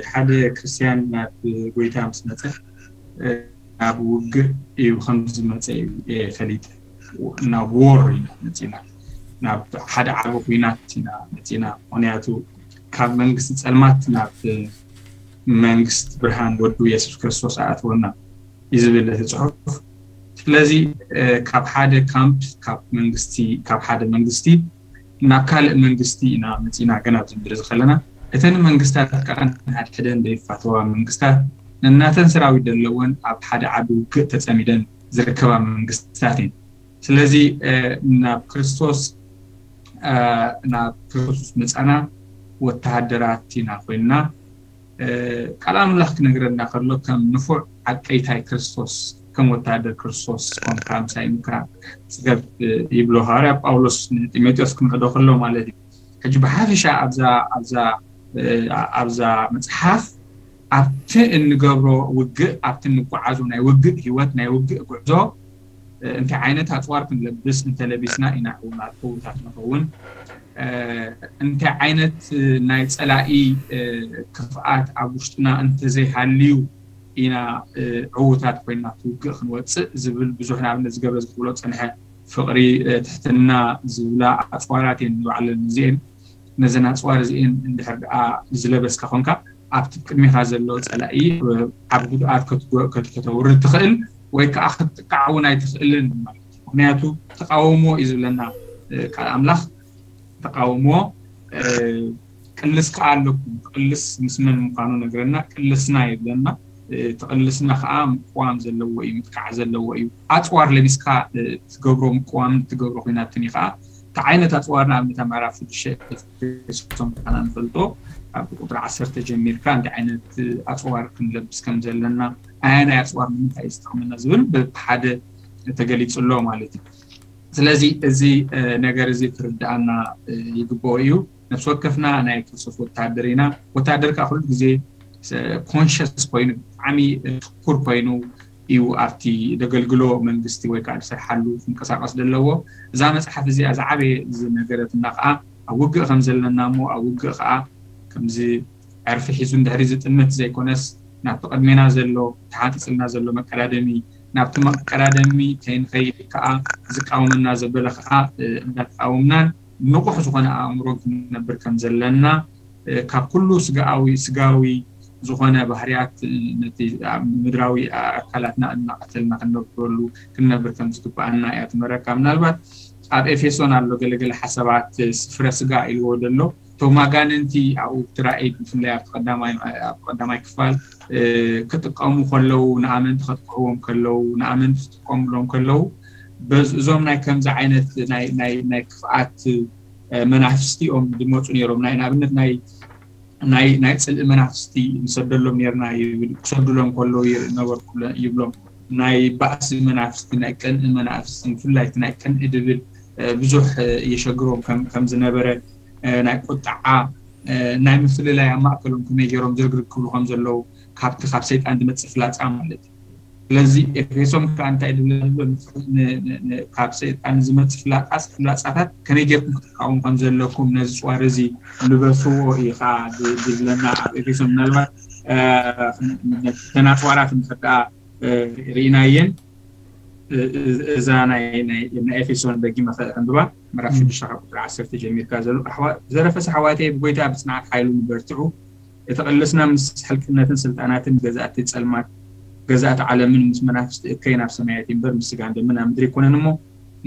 ሓደ ክርስትያን ናብ ጎይታ ምስ መፀ ናብ ውግእ እዩ ከም ዝመፀ እዩ ፈሊጠ። ናብ ዎር ኢና መፂና፣ ናብ ሓደ ዓቢ ኩናት ኢና መፂና። ምክንያቱ ካብ መንግስቲ ፀልማት ናብ መንግስቲ ብርሃን ወዱ የሱስ ክርስቶስ ኣእትወና እዩ ዝብል እቲ ፅሑፍ። ስለዚ ካብ ሓደ ካምፕ ካብ መንግስቲ ካብ ሓደ መንግስቲ ናብ ካልእ መንግስቲ ኢና መፂና። ገና ኣብዚ ምድሪ ከለና እተን መንግስታት ከዓ ንሓድሕደን ዘይፋተዋ መንግስታት ነናተን ሰራዊት ዘለወን ኣብ ሓደ ዓቢ ውግእ ተፀሚደን ዝርከባ መንግስታት እየን። ስለዚ ናብ ክርስቶስ ናብ ክርስቶስ መፃና ወተሃደራት ኢና ኮይንና። ቃል ኣምላኽ ክነግረና ከሎ ከም ንፉዕ ዓቀይታይ ክርስቶስ ከም ወተሃደር ክርስቶስ ኮንካ ምሳይ ምካ ፅገብ ይብሎ ሃዋርያ ጳውሎስ ንጢሞቴዎስ ክምዕዶ ከሎ ማለት እዩ። ሕጂ ብሓፈሻ ኣብዛ ኣብዛ ኣብዛ መፅሓፍ ኣብቲ እንገብሮ ውግእ ኣብቲ እንጓዓዞ ናይ ውግእ ህይወት ናይ ውግእ ጉዕዞ እንታይ ዓይነት ኣፅዋር ክንለብስ እንተለቢስና ኢና ዕውታት ንኸውን፣ እንታይ ዓይነት ናይ ፀላኢ ክፍኣት ኣብ ውሽጥና እንተዘይሃልዩ ኢና ዕውታት ኮይና ትውግእ ክንወፅእ ዝብል ብዙሕ ንኣብነት ዝገብረ ዝብሎ ፀንሐ ፍቕሪ ትሕትና ዝብላ ኣፅዋራት እየን ንባዕለን እዚአን ነዘን ኣፅዋር እዚአን እንድሕር ደኣ ዝለበስካ ኮንካ ኣብቲ ቅድሚኻ ዘሎ ፀላኢ ዓብ ጉድኣት ከተውርድ ትኽእል ወይ ከዓ ክትጥቃዕ እውን ኣይትኽእልን ማለት እዩ። ምክንያቱ ተቃውሞ እዩ ዝብለና ቃል ኣምላኽ። ተቃውሞ ቅልስ ከዓ ኣለኩም። ቅልስ ምስ መን ምኳኑ ነግረና። ቅልስና ይብለና። ተቕልስና ከዓ ምቅዋም ዘለዎ እዩ፣ ምጥቃዕ ዘለዎ እዩ። ኣፅዋር ለቢስካ ትገብሮ ምቅዋም ትገብሮ ኮይናትን እዩ ከዓ እንታይ ዓይነት ኣፅዋር ንኣብነት ኣብ ምዕራፍ ሽዱሽተ ኤፌሶን ከና ንፈልጦ ካብ ቁጥሪ ዓሰርተ ጀሚርካ እንታይ ዓይነት ኣፅዋር ክንለብስ ከም ዘለና ኣያናይ ኣፅዋር ንምንታይ እዩ ዝጠቕመና ዝብል ብሓደ ተገሊፁ ኣሎ ማለት እዩ። ስለዚ እዚ ነገር እዚ ክርድኣና ይግብኦ እዩ። ነፍሲ ወከፍና ናይ ክርስቶስ ወታደር ኢና። ወታደር ከዓ ኩሉ ግዜ ኮንሽስ ኮይኑ ብጣዕሚ ትኩር ኮይኑ እዩ ኣብቲ ደገልግሎ መንግስቲ ወይ ከዓ ዝሰርሓሉ ክንቀሳቀስ ዘለዎ። እዛ መፅሓፍ እዚኣ ዝዓበየ ዝነገረትና ከዓ ኣብ ውግእ ከም ዘለና እሞ ኣብ ውግእ ከዓ ከምዚ ዕርፊ ሒዙ እንድሕሪ ዝጥምት ዘይኮነስ ናብቲ ቅድሜና ዘሎ ተሓንፂፅልና ዘሎ መቀዳደሚ ናብቲ መቀዳደሚ ከይንኸይድ ከዓ ዝቃወመና ዘበለ ከዓ እንዳተቃወምናን ንቑሕ ዝኾነ ኣእምሮን ክንነብር ከም ዘለና ካብ ኩሉ ስጋዊ ስጋዊ ዝኾነ ባህርያት ነቲ ምድራዊ ኣካላትና እናቐተልና ክንነብረሉ ክንነብር ከም ዝግባኣና እያ ትመረካ። ምናልባት ኣብ ኤፌሶን ኣሎ ገለገለ ሓሳባት ስፍረ ስጋ ኢልዎ ዘሎ እቶም ኣጋንንቲ ኣብኡ ትራእይ ብፍላይ ኣብቲ ቀዳማይ ክፋል ክጥቀሙ ከለዉ ንኣመንቲ ከጥቅዕዎም ከለዉ ንኣመንቲ ክጥቀሙሎም ከለዉ እዞም ናይ ከምዚ ዓይነት ናይ ክፍኣት መናፍስቲ እዮም ዝመፁ ነይሮም ናይ ንኣብነት ናይ ናይ ናይ ፅልኢ መናፍስቲ ንሰደሎም ነርና ይብል ክሰዱሎም ከለዉ ነበርኩ ይብሎም ናይ ባእሲ መናፍስቲ ናይ ቅንኢ መናፍስቲ ብፍላይ ናይ ቅንኢ ድብል ብዙሕ የሸግሮም ከም ዝነበረ ናይ ቁጣዓ ናይ ምፍልላይ ኣብ ማእከሎም ከመይ ገይሮም ዝርግርግ ክብሉ ከም ዘለዉ ካብቲ ካብ ሰይጣን ዝመፅእ ፍላፃ ማለት እዩ። ስለዚ ኤፌሶን ከዓ እንታይ ድብለ ዘሎ ካብ ሰይጣን ዝመፅእ ፍላፃ ፍላፃታት ከመይ ጌርኩም ክትቃወሙ ከም ዘለኩም ነዚ ፅዋር እዚ ልበስዎ እዩ ከዓ ድብለና ኣብ ኤፌሶን ምናልባት ተናፅዋራት ንክዳ ርኢናየን እዛ ናይ ኤፌሶን ደጊመ ከንብባ ምዕራፍ ሽዱሽተ ካብ ቁፅሪ ዓሰርተ ጀሚርካ ዘሎ ዘረፈስ ኣሕዋተይ ብጎይታ ብፅንዓት ሓይሉ ንበርትዑ እቲ ቅልስና ምስ ሕልቅነትን ስልጣናትን ገዛእቲ ፀልማት ገዛእቲ ዓለምን ምስ መናፍስቲ እከይ ናብ ሰማያት እምበር ምስ ስጋን ደምን ኣብ ምድሪ ኣይኮነን እሞ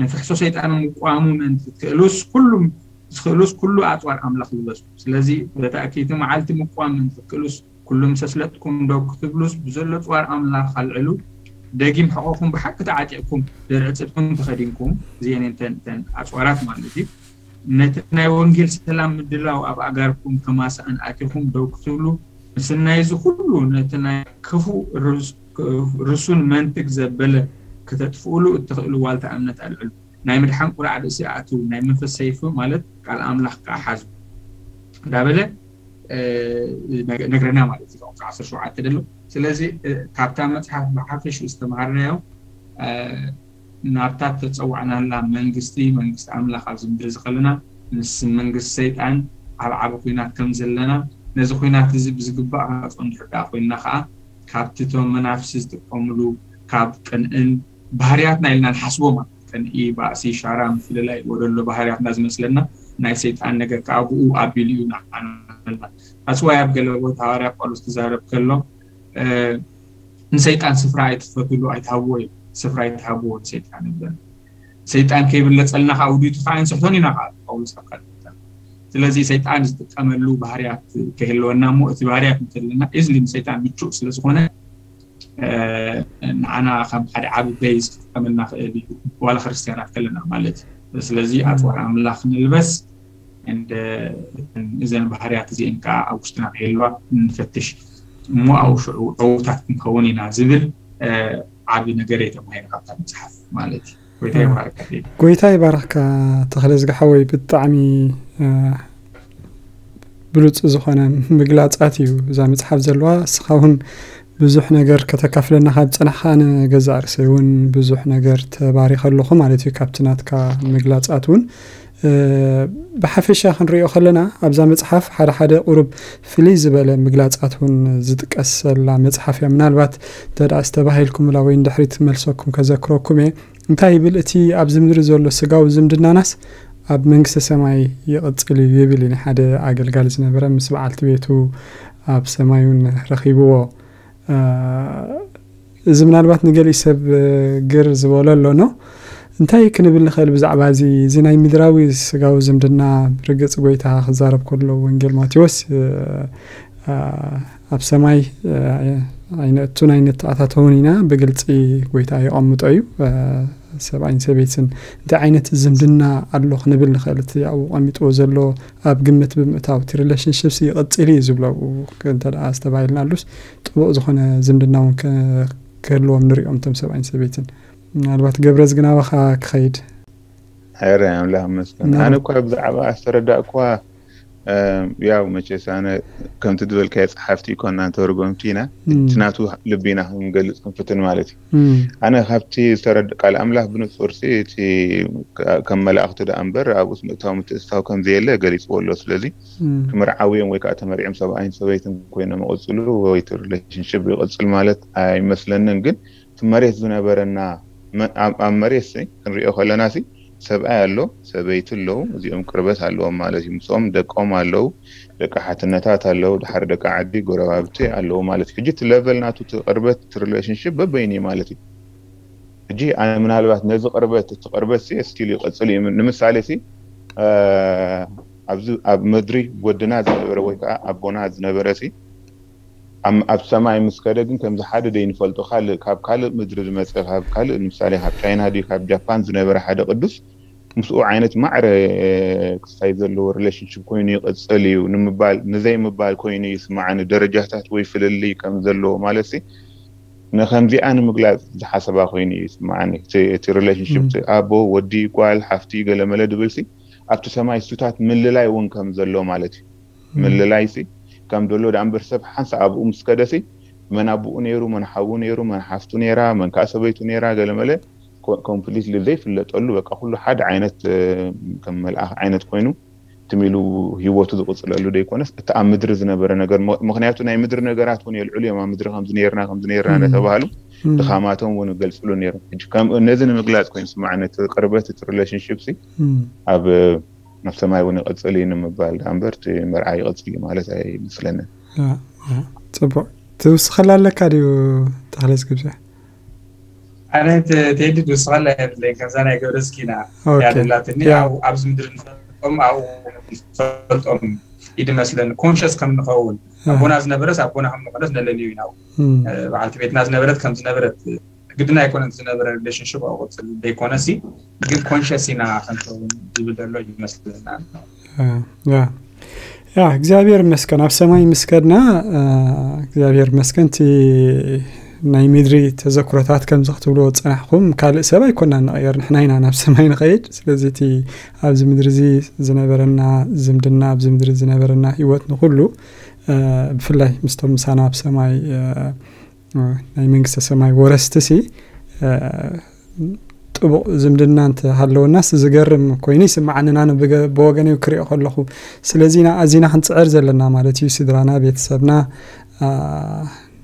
ንፍሕሶ ሰይጣን ምቋሙ ምእንቲ ትክእሉስ ኩሉም ዝኽእሉስ ኩሉ ኣፅዋር ኣምላኽ ልበሱ። ስለዚ በቲ ኣክይቲ መዓልቲ ምቋም ምእንቲ ትክእሉስ ኩሉ ምስ ኣስለጥኩም ደው ክትብሉስ ብዘሎ ፅዋር ኣምላኽ ኣልዕሉ። ደጊም ሕቖኹም ብሓቂ ተዓጢቕኩም ድርዒ ፅድቅኩም ተኸዲንኩም እዚአን እተን እተን ኣፅዋራት ማለት እዩ። ነቲ ናይ ወንጌል ሰላም ምድላው ኣብ ኣጋርኩም ከማሳእን ኣቲኹም ደው ክትብሉ ምስናይ እዚ ኩሉ ነቲ ናይ ክፉእ ርሱን መንትግ ዘበለ ክተጥፍኡሉ እትኽእሉ ዋልታ እምነት ኣልዕሉ። ናይ ምድሓን ቁራዕ ርእሲ ኣእትዉ፣ ናይ መንፈስ ሰይፊ ማለት ቃል ኣምላኽ ከኣ ሓዙ እንዳበለ ነግረና ማለት እዩ። ቁፅሪ ዓሰርተ ሸውዓተ ደሎ ስለዚ ካብታ መፅሓፍ ብሓፈሽኡ ዝተምሃርናዮ ናብታ ተፀዋዕናላ መንግስቲ መንግስቲ ኣምላኽ ኣብዚ ምድሪ ዝኸለና ምስ መንግስቲ ሰይጣን ኣብ ዓቢ ኩናት ከም ዘለና ነዚ ኩናት እዚ ብዝግባእ ክንፀንሑ ዳ ኮይንና ከዓ ካብቲ እቶም መናፍሲ ዝጥቀምሉ ካብ ቅንእን ባህርያትና ኢልና ንሓስቦ ማለት ቅንኢ ባእሲ ሻራ ምፍልላይ ወደሎ ባህርያትና ዝመስለና ናይ ሰይጣን ነገር ከዓ ብኡ ኣቢሉ እዩ ንዓና ኣስዋይ ኣብ ገለ ቦታ ሃዋርያ ጳውሎስ ክዛረብ ከሎ ንሰይጣን ስፍራ ኣይትፈትሉ ኣይትሃብዎ እዩ ስፍራ ኣይትሃብዎ ንሰይጣን ይብለና ሰይጣን ከይብለፀልና ከዓ ውዲቱ ከዓ ንስሕቶን ኢና ከዓ ጳውሎስ ኣብ ካልእ ቦታ ስለዚ ሰይጣን ዝጥቀመሉ ባህርያት ከይህልወና እሞ እቲ ባህርያት እንተለና ኢዝሊ ንሰይጣን ምቹእ ስለዝኾነ ንዓና ከም ሓደ ዓቢ ቤዝ ክጥቀመልና ክእል እዩ ዋላ ክርስትያናት ከለና ማለት እዩ ስለዚ ኣፅዋር ኣምላኽ ንልበስ እዘን ባህርያት እዚአን ከዓ ኣብ ውሽጥና ከየለዋ ንፈትሽ እሞ ኣብ ሽዑ ዕውታት ክንከውን ኢና ዝብል ዓቢ ነገር እየ ተማሂረ ካብታ መፅሓፍ ማለት እዩ ጎይታ ይባርካ ተኽለ ዝገሓወይ ብጣዕሚ ብሉፅ ዝኾነ ምግላፃት እዩ እዛ መፅሓፍ ዘለዋ እስኻ እውን ብዙሕ ነገር ከተካፍለና ካብ ፀናሕካ ኣነ ገዛእ ርእሰይ እውን ብዙሕ ነገር ተባሪኸ ኣለኹ ማለት እዩ ካብቲ ናትካ ምግላፃት እውን ብሓፈሻ ክንሪኦ ከለና ኣብዛ መፅሓፍ ሓደ ሓደ ቁሩብ ፍልይ ዝበለ ምግላፃት እውን ዝጥቀሰላ መፅሓፍ እያ ምናልባት እንተ ዝተባሂልኩምላ ወይ ንድሕሪት መልሰኩም ከዘክረኩም እየ እንታይ ይብል እቲ ኣብዚ ምድሪ ዘሎ ስጋዊ ዝምድናናስ ኣብ መንግስተ ሰማይ ይቕፅል እዩ ይብል እዩ ሓደ ኣገልጋሊ ዝነበረ ምስ በዓልቲ ቤቱ ኣብ ሰማይ እውን ረኺብዎ እዚ ምናልባት ንገሊእ ሰብ ግር ዝበሎ ኣሎ ኖ እንታይ ክንብል ንኽእል ብዛዕባ እዚ እዚ ናይ ምድራዊ ስጋዊ ዝምድና ርግፅ ጎይታ ክዛረብ ከሎ ወንጌል ማቴዎስ ኣብ ሰማይ ኣይነእቱን ኣይንተኣታተውን ኢና ብግልፂ ጎይታ የቐምጦ እዩ ሰብኣይን ሰበይትን እንታይ ዓይነት ዝምድና ኣሎ ክንብል ንኽእል እቲ ኣብኡ ቀሚጥዎ ዘሎ ኣብ ግምት ብምእታው እቲ ሪሌሽንሽፕስ ይቕፅል እዩ ዝብሎ እንተ ዝተባሂልና ኣሉስ ጥቡቕ ዝኾነ ዝምድና እውን ክህልዎም ንሪኦም እቶም ሰብኣይን ሰበይትን ምናልባት ገብረዝ ግን ኣባኻ ክኸይድ ረ ኣምላኽ መስገን ኣነ እኳ ብዛዕባ ዝተረዳእኳ ያው መቸስ ኣነ ከምቲ ዝበልካዮ ጸሓፍቲ ይኮና ተርጎምቲ ኢና። እቲ ናቱ ልቢ ኢና ክንገልጽ ክንፍትን ማለት እዩ። ኣነ ካብቲ ዝተረድ ቃል ኣምላኽ ብንጹር ሲ እቲ ከም መላእኽቱ ደኣ እምበር ኣብኡስ ምእታው ምትእስታው ከም ዘየለ ገሊጽዎ ኣሎ። ስለዚ ክምርዓው እዮም ወይ ከዓ ተመሪዖም ሰብኣይን ሰበይትን ኮይኖም ይቕጽሉ ወይ እቲ ሪሌሽንሽፕ ይቕጽል ማለት ኣይመስለንን። ግን እቲ መሬት ዝነበረና ኣብ መሬት ሲ ክንሪኦ ከለና ሲ ሰብኣይ ኣሎ፣ ሰበይቲ ኣለዉ፣ እዚኦም ቅርበት ኣለዎም ማለት እዩ። ምስኦም ደቆም ኣለዉ፣ ደቂ ሓትነታት ኣለዉ፣ ድሓር ደቂ ዓዲ ጎረባብቲ ኣለዉ ማለት እዩ። ሕጂ እቲ ለቨል ናቱ እቲ ቅርበት እቲ ሪሌሽንሽፕ በበይኑ እዩ ማለት እዩ። ሕጂ ኣነ ምናልባት ነዚ ቅርበት እቲ ቅርበት ሲ ስቲል ይቐጽል እዩ። ንምሳሌ ሲ ኣብዚ ኣብ ምድሪ ወድና ዝነበረ ወይ ከዓ ኣቦና ዝነበረ ሲ ኣብ ሰማይ ምስ ከደ ግን ከምዚ ሓደ ደይንፈልጦ ካልእ ካብ ካልእ ምድሪ ዝመፀ ካብ ካልእ ንምሳሌ ካብ ቻይና ድዩ ካብ ጃፓን ዝነበረ ሓደ ቅዱስ ምስኡ ዓይነት ማዕረ ክስታይ ዘለዎ ሪሌሽንሽፕ ኮይኑ ይቕፅል እዩ ንምባል ንዘይ ምባል ኮይኑ ይስማዓኒ። ደረጃታት ወይ ፍልልይ ከም ዘለዎ ማለት ሲ ንከምዚኣ ንምግላፅ ዝሓሰባ ኮይኑ እዩ ይስማዓኒ። እቲ ሪሌሽንሽፕ ኣቦ ወዲ ጓል ሓፍቲ ገለመለ ድብል ሲ ኣብቲ ሰማይ እሱታት ምልላይ እውን ከም ዘሎ ማለት እዩ። ምልላይ ሲ ከም ዘሎ ደኣ እምበር ሰብ ሓንሳ ኣብኡ ምስ ከደ ሲ መን ኣቦኡ ነይሩ፣ መን ሓዉ ነይሩ፣ መን ሓፍቱ ነይራ፣ መን ከዓ ሰበይቱ ነይራ ገለመለ ኮምፕሊትሊ ዘይፍለጠሉ በቃ ኩሉ ሓደ ዓይነት ከም መልኣኽ ዓይነት ኮይኑ ትም ኢሉ ህይወቱ ዝቕፅለሉ ዘይኮነስ እቲ ኣብ ምድሪ ዝነበረ ነገር ምክንያቱ ናይ ምድሪ ነገራት እውን የልዕሉ እዮም። ኣብ ምድሪ ከምዚ ነይርና ከምዚ ነይርና እናተባሃሉ ድኻማቶም እውን ይገልፅሉ ነይሮም። ነዚ ንምግላፅ ኮይኑ ስማዕነት ቅርበት እቲ ሪሌሽንሽፕ ሲ ኣብ ኣብ ሰማይ እውን ይቐጽል እዩ ንምባል ደኣ እምበር እቲ መርዓ ይቐጽል እዩ ማለት ኣይመስለንን። ጽቡቅ ትውስኸላ ኣለካ ድዩ? ተኽለስ ግብዘ ኣነ ቴዲ ትውስኸላ የብለይን። ከምዛ ናይ ገብረ እስኪና ያደላትኒ ኣብዚ ምድሪ ንፈልጦም ኣብኡ ንፈልጦም ይድመስለኒ ኮንሸስ ከም ንኸውን ኣቦና ዝነበረስ ኣቦና ከም ንኾነስ ነለልዩ ኢና። በዓልቲ ቤትና ዝነበረት ከም ዝነበረት ግድና ኣይኮነን ዝነበረ ሪሌሽንሽፕ ኣቆፅል ደይኮነ ሲ ግን ኮንሸስ ኢና ከንከውን ዝብል ዘሎ ይመስልና። ያ እግዚኣብሔር ይመስገን ኣብ ሰማይ ምስከድና እግዚኣብሔር ይመስገን። እቲ ናይ ምድሪ ተዘክሮታት ከምዚ ክትብልዎ ዝፀናሕኩም ካልእ ሰብ ኣይኮና ንቐየር ንሕና ኢና ናብ ሰማይ ንኸይድ። ስለዚ እቲ ኣብዚ ምድሪ እዚ ዝነበረና ዝምድና ኣብዚ ምድሪ ዝነበረና ህይወት ንኩሉ ብፍላይ ምስቶም ምሳና ኣብ ሰማይ ናይ መንግስተ ሰማይ ወረስቲ ሲ ጥቡቕ ዝምድና እንተሃለወናስ ዝገርም ኮይኑ ይስምዓኒ። ኣነ ብወገነይ ክሪኦ ከለኹ ስለዚ ኣዚና ክንፅዕር ዘለና ማለት እዩ። ስድራና ቤተሰብና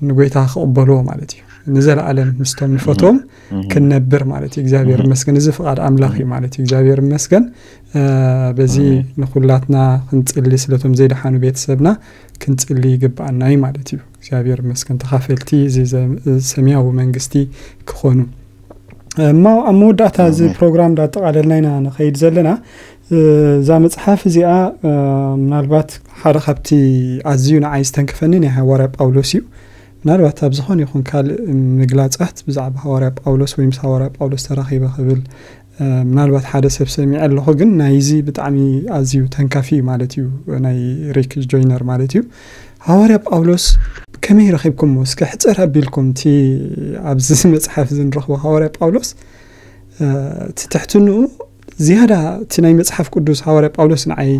ንጎይታ ክቕበልዎ ማለት እዩ። ንዘለኣለም ምስቶም ንፈትዎም ክንነብር ማለት እዩ። እግዚኣብሔር ይመስገን እዚ ፍቓድ ኣምላኽ እዩ ማለት እዩ። እግዚኣብሔር ይመስገን። በዚ ንኩላትና ክንፅሊ ስለቶም ዘይደሓኑ ቤተሰብና ክንፅሊ ይግብኣና እዩ ማለት እዩ። እግዚኣብሔር ይመስገን ተኻፈልቲ እዚ ሰማያዊ መንግስቲ ክኾኑ። እሞ ኣብ መወዳእታ እዚ ፕሮግራም እንዳጠቓለልና ኢና ንኸይድ ዘለና። እዛ መፅሓፍ እዚኣ ምናልባት ሓደ ካብቲ ኣዝዩ ንዓይ ዝተንከፈኒ ናይ ሃዋርያ ጳውሎስ እዩ። ምናልባት ኣብ ዝኾነ ይኹን ካልእ ምግላፃት ብዛዕባ ሃዋርያ ጳውሎስ ወይ ምስ ሃዋርያ ጳውሎስ ተራኺበ ክብል ምናልባት ሓደ ሰብ ሰሚዐ ኣለኹ ግን ናይዚ ብጣዕሚ ኣዝዩ ተንካፊ እዩ ማለት እዩ። ናይ ሪክ ጆይነር ማለት እዩ። ሃዋርያ ጳውሎስ ከመይ ረኺብኩሞ እስከ ሕፅር ኣቢልኩም እቲ ኣብዚ መፅሓፍ እዚ ንረኽቦ ሃዋርያ ጳውሎስ እቲ ትሕትንኡ ዝያዳ እቲ ናይ መፅሓፍ ቅዱስ ሃዋርያ ጳውሎስ ንዓይ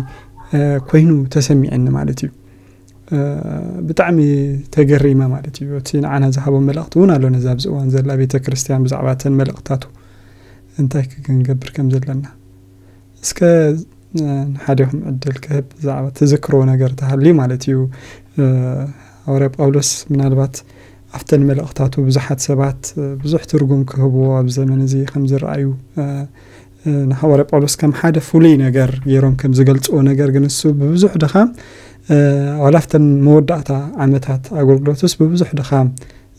ኮይኑ ተሰሚዐኒ ማለት እዩ። ብጣዕሚ ተገሪመ ማለት እዩ። እቲ ንዓና ዝሃቦ መልእኽቲ እውን ኣሎ ነዛ ኣብዚ እዋን ዘላ ቤተ ክርስቲያን ብዛዕባ እተን መልእኽታቱ እንታይ ክንገብር ከም ዘለና እስከ ንሓደኹም ዕድል ክህብ ብዛዕባ ትዝክርዎ ነገር ተሃልዩ ማለት እዩ። ሃዋርያ ጳውሎስ ምናልባት ኣብተን መልእኽታቱ ብዙሓት ሰባት ብዙሕ ትርጉም ክህብዎ ኣብ ዘመን እዚ ከም ዝረኣዩ ንሃዋርያ ጳውሎስ ከም ሓደ ፍሉይ ነገር ገይሮም ከም ዝገልፅዎ ነገር ግን እሱ ብብዙሕ ድኻም ዋላ ኣብተን መወዳእታ ዓመታት ኣገልግሎትስ ብብዙሕ ድኻም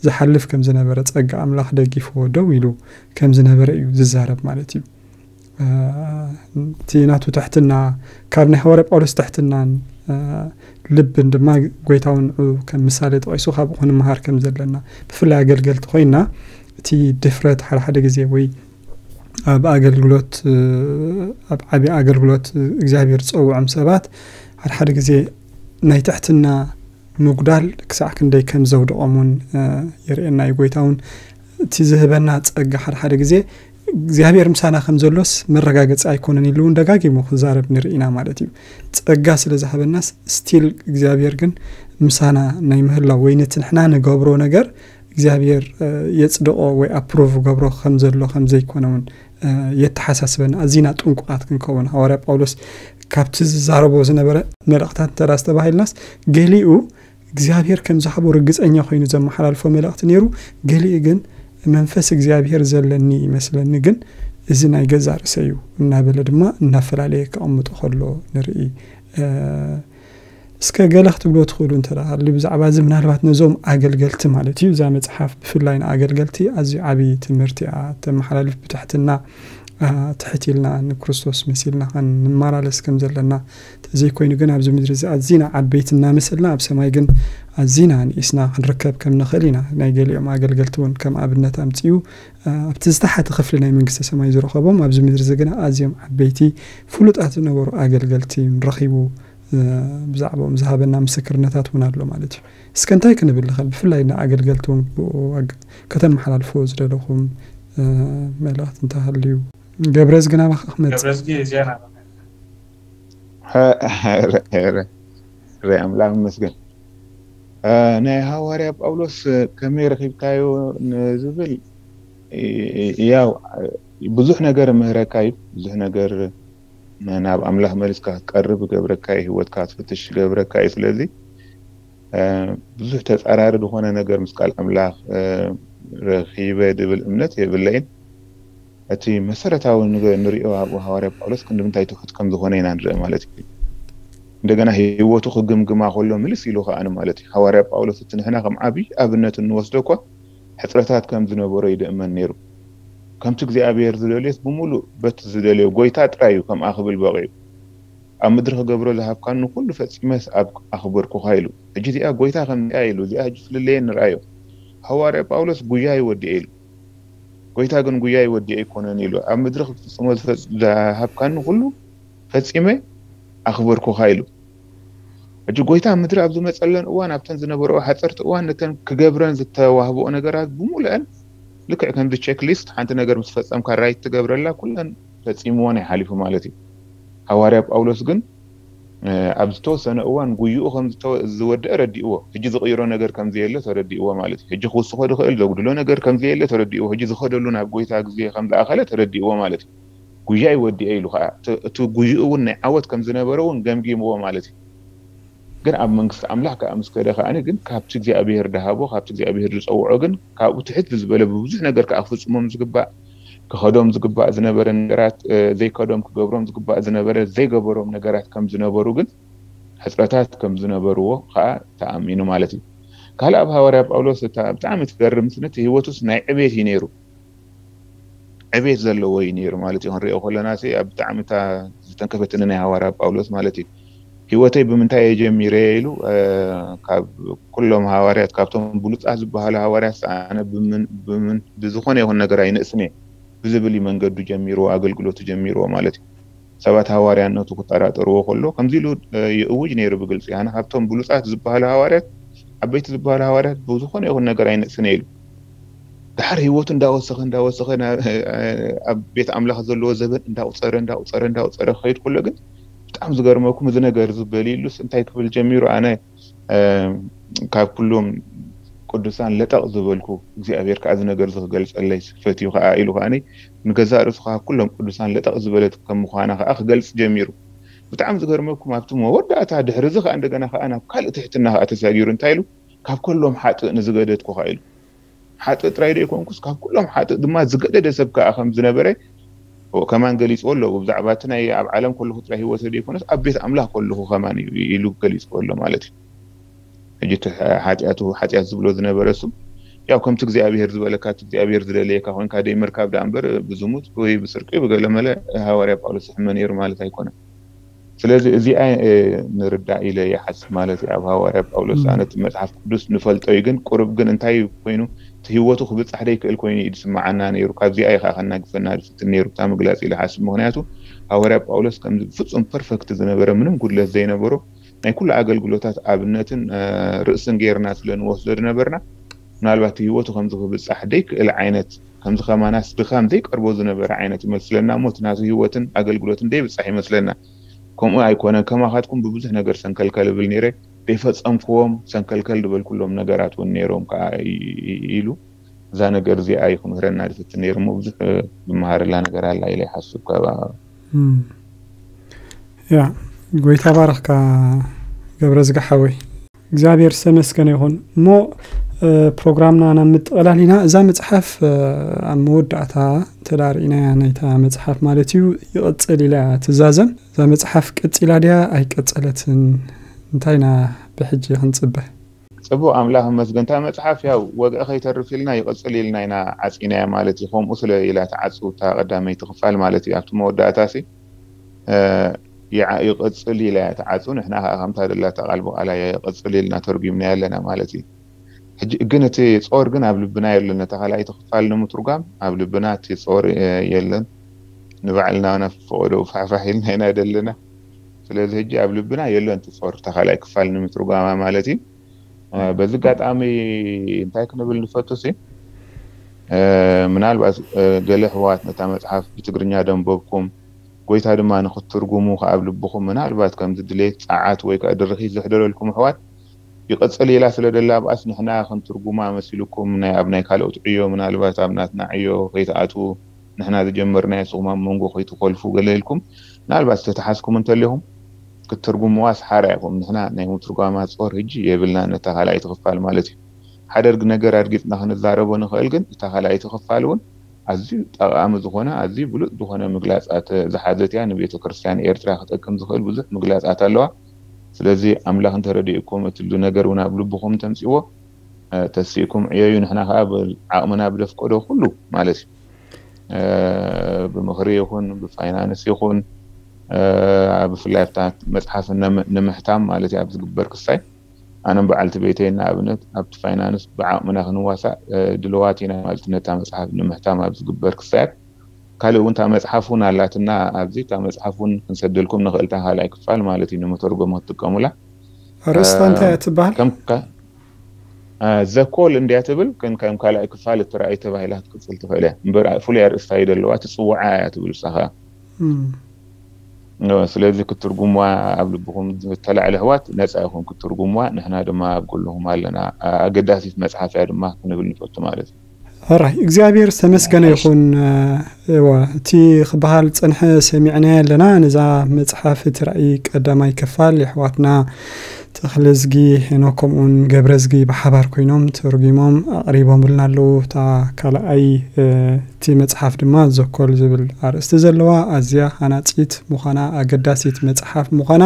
ዝሓልፍ ከም ዝነበረ ጸጋ ኣምላኽ ደጊፍዎ ደው ኢሉ ከም ዝነበረ እዩ ዝዛረብ ማለት እዩ። እቲ ናቱ ትሕትና ካብ ናይ ሃዋርያ ጳውሎስ ትሕትናን ልብን ድማ ጎይታውን ንዑ ከም ምሳሌ ተቐይሱ ካብኡ ክንመሃር ከም ዘለና ብፍላይ ኣገልገልቲ ኮይና እቲ ድፍረት ሓደ ሓደ ግዜ ወይ ኣብ ኣገልግሎት ኣብ ዓቢ ኣገልግሎት እግዚኣብሔር ዝጸውዖም ሰባት ሓደ ሓደ ግዜ ናይ ትሕትና ምጉዳል ክሳዕ ክንደይ ከም ዘውድቖም እውን የርእየና እዩ። ጎይታ እውን እቲ ዝህበና ጸጋ ሓደ ሓደ ግዜ እግዚኣብሔር ምሳና ከም ዘሎስ መረጋገፂ ኣይኮነን ኢሉ እውን ደጋጊሙ ክዛረብ ንርኢ ኢና ማለት እዩ። ጸጋ ስለ ዝሃበናስ ስቲል እግዚኣብሔር ግን ምሳና ናይ ምህላው ወይ ነቲ ንሕና ንገብሮ ነገር እግዚኣብሔር የጽድቆ ወይ ኣፕሩቭ ገብሮ ከም ዘሎ ከም ዘይኮነ እውን የተሓሳስበና። ኣዚና ጥንቁቓት ክንከውን ሃዋርያ ጳውሎስ ካብቲ ዝዛረቦ ዝነበረ መልእኽታት እንተ ዝተባሂልናስ ገሊኡ እግዚኣብሔር ከም ዝሃቦ ርግጸኛ ኮይኑ ዘመሓላልፎ መልእኽቲ ነይሩ። ገሊኡ ግን መንፈስ እግዚኣብሔር ዘለኒ ይመስለኒ ግን እዚ ናይ ገዛ ርእሰ እዩ እናበለ ድማ እናፈላለየ ከቐምጦ ከሎ ንርኢ። እስከ ገለ ክትብሎ ትኽእሉ እንተ ሃልዩ ብዛዕባ እዚ ምናልባት ነዞም ኣገልገልቲ ማለት እዩ እዛ መፅሓፍ ብፍላይ ንኣገልገልቲ ኣዝዩ ዓብዪ ትምህርቲ እያ ተመሓላልፍ ብትሕትና ትሕት ኢልና ንክርስቶስ መሲልና ንመላለስ ከም ዘለና ተዘይኮይኑ ግን ኣብዚ ምድሪ እዚ ኣዚና ዓበይቲ እናመሰልና ኣብ ሰማይ ግን ኣዚና ንኢስና ክንርከብ ከም ንኽእል ኢና። ናይ ገሊኦም ኣገልገልቲ እውን ከም ኣብነት ኣምፅኡ ኣብቲ ዝተሓተ ክፍሊ ናይ መንግስተ ሰማይ ዝረኸቦም ኣብዚ ምድሪ እዚ ግን ኣዝዮም ዓበይቲ ፍሉጣት ዝነበሩ ኣገልገልቲ ረኺቡ ብዛዕባኦም ዝሃበና ምስክርነታት እውን ኣሎ ማለት እዩ። እስከ እንታይ ክንብል ንኽእል ብፍላይ ንኣገልገልቲ እውን ብኡ ከተመሓላልፎ ዝደለኹም መልእኽቲ እንተሃልዩ? ገብረዝጊ ናባኻ ክመጽእ። ረ ኣምላኽ ይመስገን። ናይ ሃዋርያ ጳውሎስ ከመይ ረኺብካዮ ንዝብል ያው ብዙሕ ነገር ምህረካ እዩ። ብዙሕ ነገር ናብ ኣምላኽ መሊስካ ክትቀርብ ገብረካ እዩ። ህይወትካ ትፍትሽ ገብረካ እዩ። ስለዚ ብዙሕ ተፃራሪ ዝኾነ ነገር ምስ ቃል ኣምላኽ ረኺበ ድብል እምነት የብለይን። እቲ መሰረታዊ ንሪኦ ኣብኡ ሃዋርያ ጳውሎስ ክንዲ ምንታይ ትሑት ከም ዝኾነ ኢና ንርኢ ማለት እዩ። እንደገና ህይወቱ ክግምግማ ከሎ ምልስ ኢሉ ከኣ ማለት እዩ። ሃዋርያ ጳውሎስ እቲ ንሕና ከም ዓብዪ ኣብነት እንወስዶ እኳ ሕፅረታት ከም ዝነበሮ ይድእመን ነይሩ። ከምቲ እግዚኣብሔር ዝደልዮስ ብምሉእ በቲ ዝደልዮ ጎይታ ጥራይ እዩ ከምኣ ክብል በቂዑ። ኣብ ምድሪ ክገብሮ ዝሃብካኒ ኩሉ ፈጺመስ ኣብ ኣኽበርኩኻ ኢሉ። ሕጂ እዚኣ ጎይታ ከምዚኣ ኢሉ እዚኣ ሕጂ ፍልለየ ንርኣዮ። ሃዋርያ ጳውሎስ ጉያ ይወዲኤ ኢሉ። ጎይታ ግን ጉያ ይወዲኤ ኣይኮነን ኢሉ ኣብ ምድሪ ክፍጽሞ ዝሃብካኒ ኩሉ ፈጺመ ኣኽበርኩኻ ኢሉ። ሕጂ ጎይታ ምድሪ ኣብ ዝመፀለን እዋን ኣብተን ዝነበረኦ ሓፀርቲ እዋን ነተን ክገብረን ዝተዋህበኦ ነገራት ብምሉአን ልክዕ ከምዚ ቸክ ሊስት ሓንቲ ነገር ምስ ፈፀምካ ራይት ትገብረላ ኩለን ፈፂምወን ይሓሊፉ ማለት እዩ። ሃዋርያ ጳውሎስ ግን ኣብ ዝተወሰነ እዋን ጉይኡ ከም ዝወደአ ረዲእዎ። ሕጂ ዝቕይሮ ነገር ከም ዘየለ ተረዲእዎ ማለት እዩ። ሕጂ ክውስኾ ዝኽእል ዘጉድሎ ነገር ከም ዘየለ ተረዲእዎ። ሕጂ ዝኸደሉ ናብ ጎይታ ግዜ ከም ዝኣኸለ ተረዲእዎ ማለት እዩ። ጉያ ይወዲአ ኢሉ ከዓ እቲ ጉይኡ እውን ናይ ዓወት ከም ዝነበረ እውን ገምጊምዎ ማለት እዩ። ግን ኣብ መንግስቲ ኣምላኽ ከዓ ምስ ከደ ከዓ ግን ካብቲ እግዚኣብሄር ድሃቦ ካብቲ እግዚኣብሄር ዝፀውዖ ግን ካብኡ ትሕት ብዝበለ ብብዙሕ ነገር ከዓ ክፍፅሞም ዝግባእ ክኸዶም ዝግባእ ዝነበረ ነገራት ዘይከዶም ክገብሮም ዝግባእ ዝነበረ ዘይገበሮም ነገራት ከም ዝነበሩ ግን ሕፅረታት ከም ዝነበርዎ ከዓ ተኣሚኑ ማለት እዩ። ካልእ ኣብ ሃዋርያ ጳውሎስ እታ ብጣዕሚ ትገርም ነቲ ህይወቱስ ናይ ዕቤት እዩ ነይሩ። ዕቤት ዘለዎ እዩ ነይሩ ማለት እዩ። ክንሪኦ ከለና ሲ ኣብ ብጣዕሚ እታ ዝተንከፈትኒ ናይ ሃዋርያ ጳውሎስ ማለት እዩ። ህይወተይ ብምንታይ እየ ጀሚረ ኢሉ ካብ ኩሎም ሃዋርያት ካብቶም ብሉፃት ዝበሃሉ ሃዋርያት ኣነ ብዝኾነ ይኹን ነገር ኣይንእስን እየ ብዝብል እዩ መንገዱ ጀሚርዎ ኣገልግሎቱ ጀሚርዎ ማለት እዩ። ሰባት ሃዋርያነቱ ክጠራጠርዎ ከሎ ከምዚ ኢሉ ይእውጅ ነይሩ ብግልፂ ኣነ ካብቶም ብሉፃት ዝበሃሉ ሃዋርያት ዓበይቲ ዝበሃሉ ሃዋርያት ብዝኾነ ይኹን ነገር ኣይንእስን እየ ኢሉ። ድሓር ህይወቱ እንዳወሰኸ እንዳወሰኸ ኣብ ቤት ኣምላኽ ዘለዎ ዘበን እንዳቁፀረ እንዳቁፀረ እንዳቁፀረ ክኸይድ ከሎ ግን ብጣዕሚ ዝገርመኩም እዚ ነገር እዚ በሊሉስ እንታይ ክብል ጀሚሩ ኣነ ካብ ኩሎም ቅዱሳን ለጠቕ ዝበልኩ እግዚኣብሔር ከዓ እዚ ነገር እዚ ክገልፀለይ ፈትዩ ከዓ ኢሉ ከዓ ንገዛእ ርእሱ ካብ ኩሎም ቅዱሳን ለጠቕ ዝበለት ከም ምዃና ከዓ ክገልፅ ጀሚሩ። ብጣዕሚ ዝገርመኩም ኣብቲ መወዳእታ ድሕሪ እዚ ከዓ እንደገና ከዓ ናብ ካልእ ትሕትና ከዓ ተሳጊሩ እንታይ ኢሉ ካብ ከሎም ሓጥእ ንዝገደድኩ ከዓ ኢሉ ሓጥእ ጥራይ ዶ ይኮንኩስ ካብ ኩሎም ሓጥእ ድማ ዝገደደ ሰብ ከዓ ከም ዝነበረ ከማን ገሊፅዎ ኣለዎ። ብዛዕባ እቲ ናይ ኣብ ዓለም ከለኹ ጥራይ ህይወተ ዶ ይኮነስ ኣብ ቤት ኣምላኽ ከለኹ ከማን እዩ ኢሉ ገሊፅዎ ኣሎ ማለት እዩ። ሕጂ እቲ ሓጢኣቱ ሓጢኣት ዝብሎ ዝነበረ እሱ ያው ከምቲ እግዚኣብሄር ዝበለካ እቲ እግዚኣብሄር ዝደለየካ ኮይንካ ደይ ምርካብ ደኣ እምበር ብዝሙት ወይ ብስርቂ ብገለመለ ሃዋርያ ጳውሎስ ይሕመ ነይሩ ማለት ኣይኮነን። ስለዚ እዚኣ ንርዳእ ኢለ ይሓስብ ማለት እዩ። ኣብ ሃዋርያ ጳውሎስ ኣነ እቲ መፅሓፍ ቅዱስ ንፈልጦ እዩ ግን ቁሩብ ግን እንታይ ኮይኑ እቲ ህይወቱ ክብፃሕ ደይክእል ኮይኑ እዩ ዝስምዓና ነይሩ። ካብዚኣ እዩ ከዓ ከናግፈና ዝፍትን ነይሩ እታ ምግላፅ ኢለ ሓስብ። ምክንያቱ ሃዋርያ ጳውሎስ ከምዚ ፍፁም ፐርፈክት ዝነበረ ምንም ጉድለት ዘይነበሮ ናይ ኩሉ ኣገልግሎታት ኣብነትን ርእስን ገይርና ስለ ንወስዶ ዝነበርና ምናልባት ህይወቱ ከምዚ ክብፃሕ ደይክእል ዓይነት ከምዚ ከማናስ ድኻም ዘይቀርቦ ዝነበረ ዓይነት ይመስለና እሞ እቲ ናቱ ህይወትን ኣገልግሎትን ደይብጻሕ ይመስለና። ከምኡ ኣይኮነን። ከማኻትኩም ብብዙሕ ነገር ሰንከልከል እብል ነይረ። ደይፈጸምክዎም ሰንከልከል ዝበልኩሎም ነገራት እውን ነይሮም ከዓ ኢ- ኢ- ኢሉ እዛ ነገር እዚኣ እዩ ክምህረና ዝፍትን ነይሩ እሞ ብዙሕ ዝመሃረላ ነገር ኣላ ኢለ ይሓስብ ካብ ያ ጎይታ ባረኽካ ገብረ ዝጋሓወይ እግዚኣብሔር ዝተመስገነ ይኹን እሞ ፕሮግራምና ናብ ምጥቕላል ኢና እዛ መፅሓፍ ኣብ መወዳእታ ተዳርኢናያ ናይታ መፅሓፍ ማለት እዩ ይቕፅል ኢላ ትዛዘም እዛ መፅሓፍ ቀፂላ ድያ ኣይቀፀለትን እንታይና ብሕጂ ክንፅበ ፅቡቅ ኣምላኽ መስገንታ መፅሓፍ ያው ወግዒ ከይተርፍ ኢልና ይቕፅል ኢልና ኢና ዓፂናያ ማለት እዩ ከምኡ ስለ ኢላ ተዓፁ እታ ቀዳመይቲ ክፋል ማለት እዩ ኣብቲ መወዳእታ ሲ ይቕፅል ኢላ ተዓፁ ንሕና ከዓ ከምታ ደላታ ቃል ብቃላ ይቕፅል ኢልና ተርጉምና ኣለና ማለት እዩ ሕጂ ግን እቲ ጾር ግን ኣብ ልብና የለን ነታ ካልኣይቲ ክፋል ንምትርጓም ኣብ ልብና እቲ ጾር የለን ንባዕልና ነፈቀዶ ፋሕፋሕ ኢልና ኢና ደለና ስለዚ ሕጂ ኣብ ልብና የለን እቲ ጾር እታ ካልኣይ ክፋል ንምትርጓማ ማለት እዩ በዚ ኣጋጣሚ እንታይ ክንብል ንፈቱ ሲ ምናልባት ገለ ኣሕዋት ነታ መፅሓፍ ብትግርኛ ደንበብኩም ጎይታ ድማ ንክትትርጉሙ ከኣብ ልብኹም ምናልባት ከምዚ ድሌት ፃዓት ወይ ከዓ ድርኺት ዘሕደረልኩም ኣሕዋት ይቕፅል ኢላ ስለ ደላ ኣብኣስ ንሕና ክንትርጉማ መሲልኩም ናይ ኣብ ናይ ካልኦት ዕዮ ምናልባት ኣብ ናትና ዕዮ ከይትኣትዉ ንሕና ዝጀመርናዮ ንስኹም ኣብ መንጎ ከይትኮልፉ ገለ ኢልኩም ምናልባት ዝተተሓዝኩም እንተሊኹም ክትትርጉምዋ ሰሓራ ኢኹም ንሕና ናይ ምትርጓማ ጾር ህጂ የብልና ነታ ካልኣይቲ ክፋል ማለት እዩ ሓደ ነገር ኣድጊፅና ክንዛረቦ ንኽእል ግን እታ ካልኣይቲ ክፋል እውን ኣዝዩ ጠቓሚ ዝኾነ ኣዝዩ ብሉፅ ዝኾነ ምግላፃት ዝሓዘት እያ ንቤተ ክርስቲያን ኤርትራ ክጠቅም ዝኽእል ብዙሕ ምግላፃት ኣለዋ ስለዚ ኣምላኽ እንተረዲእኩም እትሉ ነገር እውን ኣብ ልብኹም ተምፅዎ ተስኢኩም ዕየዩ ንሕና ከዓ ዓቕምና ብደፍቀዶ ኩሉ ማለት እዩ ብምኽሪ ይኹን ብፋይናንስ ይኹን ብፍላይ ኣብታ መፅሓፍ ንምሕታም ማለት እዩ ኣብ ዝግበር ክሳይ ኣነ በዓልቲ ቤተይ ንኣብነት ኣብቲ ፋይናንስ ብዓቕምና ክንዋሳእ ድልዋት ኢና ማለት ነታ መፅሓፍ ንምሕታም ኣብ ዝግበር ክሳያት ካልእ እውን እታ መፅሓፍ እውን ኣላትና ኣብዚ እታ መፅሓፍ እውን ክንሰደልኩም ንኽእል እታ ካልኣይ ክፋል ማለት እዩ ንምተርጎም ክትጥቀሙላ ኣርእስታ እንታይ እያ ትበሃል ዘኮል እንድያ ትብል ግን ከም ካልኣይ ክፋል እትረኣይ ተባሂላ ክትቅፅል ትኽእል እያ እምበር ፍሉይ ኣርእስታ እዩ ዘለዋ ትፅውዓ እያ ትብል ሳኻ ስለዚ ክትርጉምዋ ኣብ ልብኹም ዝተላዕለ ኣሕዋት ነፃ ኢኹም ክትርጉምዋ ንሕና ድማ ኣብ ጎንኹም ኣለና ኣገዳሲት መፅሓፍ እያ ድማ ክንብል ንፈቱ ማለት እዩ ሕራይ እግዚኣብሔር ዝተመስገነ ይኹን እዋ እቲ ክበሃል ዝፀንሐ ሰሚዕናዮ ኣለና ነዛ መፅሓፍ እቲ ራእይ ቀዳማይ ክፋል የሕዋትና ተኽለዝጊ ሄኖክ ከምኡውን ገብረዝጊ ብሓባር ኮይኖም ተርጒሞም ኣቕሪቦምልና ኣለዉ እታ ካልኣይ እቲ መፅሓፍ ድማ ዘኮል ዝብል ኣርእስቲ ዘለዋ ኣዝያ ሃናፂት ምዃና ኣገዳሲት መፅሓፍ ምዃና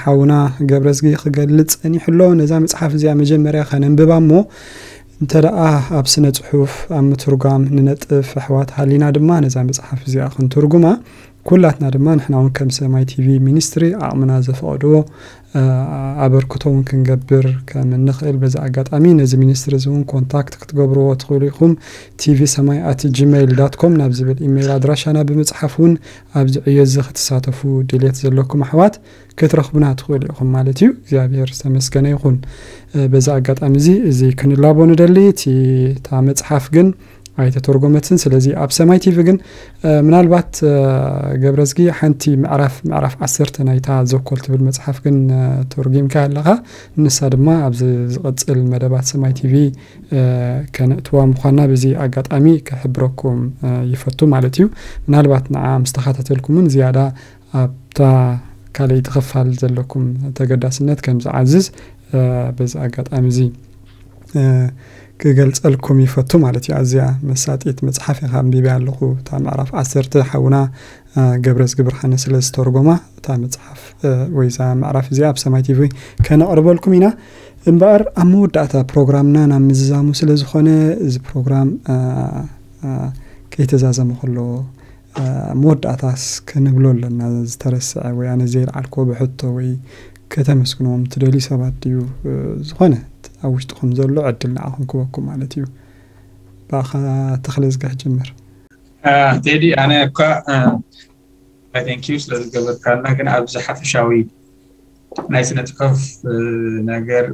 ሓውና ገብረዝጊ ክገልፅ ጸኒሑ ኣሎ ነዛ መፅሓፍ እዚኣ መጀመርያ ከነንብባ እሞ እንተ ደኣ ኣብ ስነ ጽሑፍ ኣብ ምትርጓም ንነጥፍ ኣሕዋት ሃሊና ድማ ነዛ መፅሓፍ እዚኣ ክንትርጉማ ኩላትና ድማ ንሕና እውን ከም ሰማይ ቲቪ ሚኒስትሪ ዓቕምና ዘፈቐድዎ ኣበርክቶ እውን ክንገብር ከም እንኽእል በዚ ኣጋጣሚ ነዚ ሚኒስትሪ እዚ እውን ኮንታክት ክትገብርዎ ትኽእሉ ኢኹም ቲቪ ሰማይ ኣት ጂሜይል ዳት ኮም ናብ ዝብል ኢሜይል ኣድራሻና ብምፅሓፍ እውን ኣብዚ ዕዮ እዚ ክትሳተፉ ድልየት ዘለኩም ኣሕዋት ክትረኽቡና ትኽእሉ ኢኹም ማለት እዩ እግዚኣብሔር ዝተመስገነ ይኹን በዚ ኣጋጣሚ እዚ እዚ ክንላቦ ንደሊ እቲ እታ መፅሓፍ ግን ኣይተተርጎመትን ስለዚ ኣብ ሰማይ ቲቪ ግን ምናልባት ገብረዝጊ ሓንቲ ምዕራፍ ምዕራፍ ዓሰርተ ናይታ ዘኮል ትብል መፅሓፍ ግን ተርጊምካ ኣለኻ ንሳ ድማ ኣብዚ ዝቐፅል መደባት ሰማይ ቲቪ ከነእትዋ ምዃንና በዚ ኣጋጣሚ ክሕብረኩም ይፈቱ ማለት እዩ ምናልባት ንዓ ምስ ተኸታተልኩምን ዝያዳ ኣብታ ካልኣይቲ ክፋል ዘለኩም ተገዳስነት ከም ዝዓዝዝ በዚ ኣጋጣሚ እዚ ክገልፀልኩም ይፈቱ ማለት እዩ ኣዝያ መሳጢት መፅሓፍ ኢኻ ኣንቢበያ ኣለኹ እታ ምዕራፍ ዓሰርተ ሓውና ገብረዝጊ ብርሃነ ስለ ዝተርጎማ እታ መፅሓፍ ወይ እዛ ምዕራፍ እዚኣ ኣብ ሰማይ ቲቪ ከነቕርበልኩም ኢና እምበኣር ኣብ መወዳእታ ፕሮግራምና ናብ ምዝዛሙ ስለ ዝኾነ እዚ ፕሮግራም ከይተዛዘመ ከሎ መወዳእታስ ክንብሎ ኣለና ዝተረስዐ ወይ ኣነ ዘይልዓልኮ ብሕቶ ወይ ከተመስግንዎም ትደልዩ ሰባት ድዩ ዝኾነ ኣብ ውሽጥኹም ዘሎ ዕድል ንዓኹም ክበኩም ማለት እዩ ብኣኻ ተኽለ ዝጋህ ጀምር ቴዲ ኣነ እኳ thank you ስለ ዝገበርካልና ግን ኣብዚ ሓፈሻዊ ናይ ስነ ፅሑፍ ነገር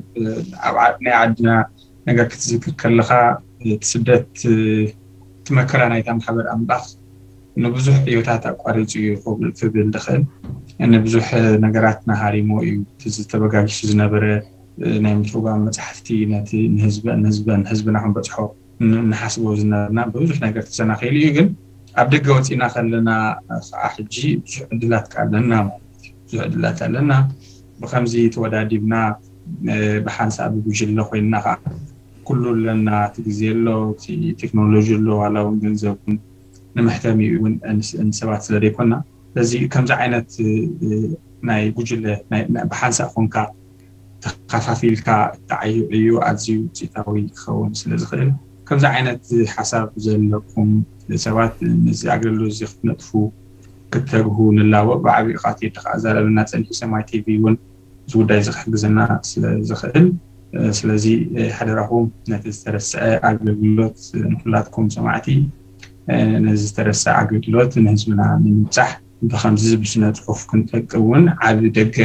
ኣብ ናይ ዓድና ነገር ክትዝክር ከለካ እቲ ስደት እቲ መከራ ናይታ ማሕበር ኣምላኽ ንብዙሕ ዕዮታት ኣቋሪጹ እዩ ክብል ክብል ዝኽእል። ንብዙሕ ነገራት ናሃሪሞ እዩ። እቲ ዝተበጋግሽ ዝነበረ ናይ ምትርጓም መጻሕፍቲ ነቲ ንህዝበ ንህዝበ ንህዝብና ክንበጽሖ ን- ንሓስቦ ዝነበርና ብብዙሕ ነገር ተሰናኺሉ እዩ። ግን ኣብ ደገ ወጺና ከለና ከዓ ሕጂ ብዙሕ ዕድላት ከ ኣለና ማለት እዩ። ብዙሕ ዕድላት ኣለና። ብከምዚ ተወዳዲብና ብሓንሳእ ብጉጅለ ኮይንና ከዓ ኩሉ ኣለና። እቲ ግዜ ኣሎ፣ እቲ ቴክኖሎጂ ኣሎ፣ ዋላ እውን ገንዘብ እውን ንመሕተሚ እውን ንሰባት ስለ ዘይኮና በዚ ከምዚ ዓይነት ናይ ጉጅለ ብሓንሳእ ኮንካ ተኻፋፊልካ እትዓዩ ዕዩ ኣዝዩ ውፅኢታዊ ክኸውን ስለ ዝኽእል ከምዚ ዓይነት ሓሳብ ዘለኩም ሰባት ነዚ ኣገልግሎት እዚ ክትነጥፉ ክትተግሁ ንላወቅ። ብዓብዩ ቃቴ ከዓ ዛረብና ፀኒሑ ሰማይ ቲቪ እውን እዚ ጉዳይ እዚ ክሕግዘና ስለ ዝኽእል ስለዚ ሓደራኹም ነቲ ዝተረስዐ ኣገልግሎት ንኩላትኩም ሰማዕቲ ነዚ ዝተረስዐ ኣገልግሎት ንህዝብና ንምብፃሕ ብከምዚ ብስነ ፅሑፍ ክንጠቅም እውን ዓቢ ደገ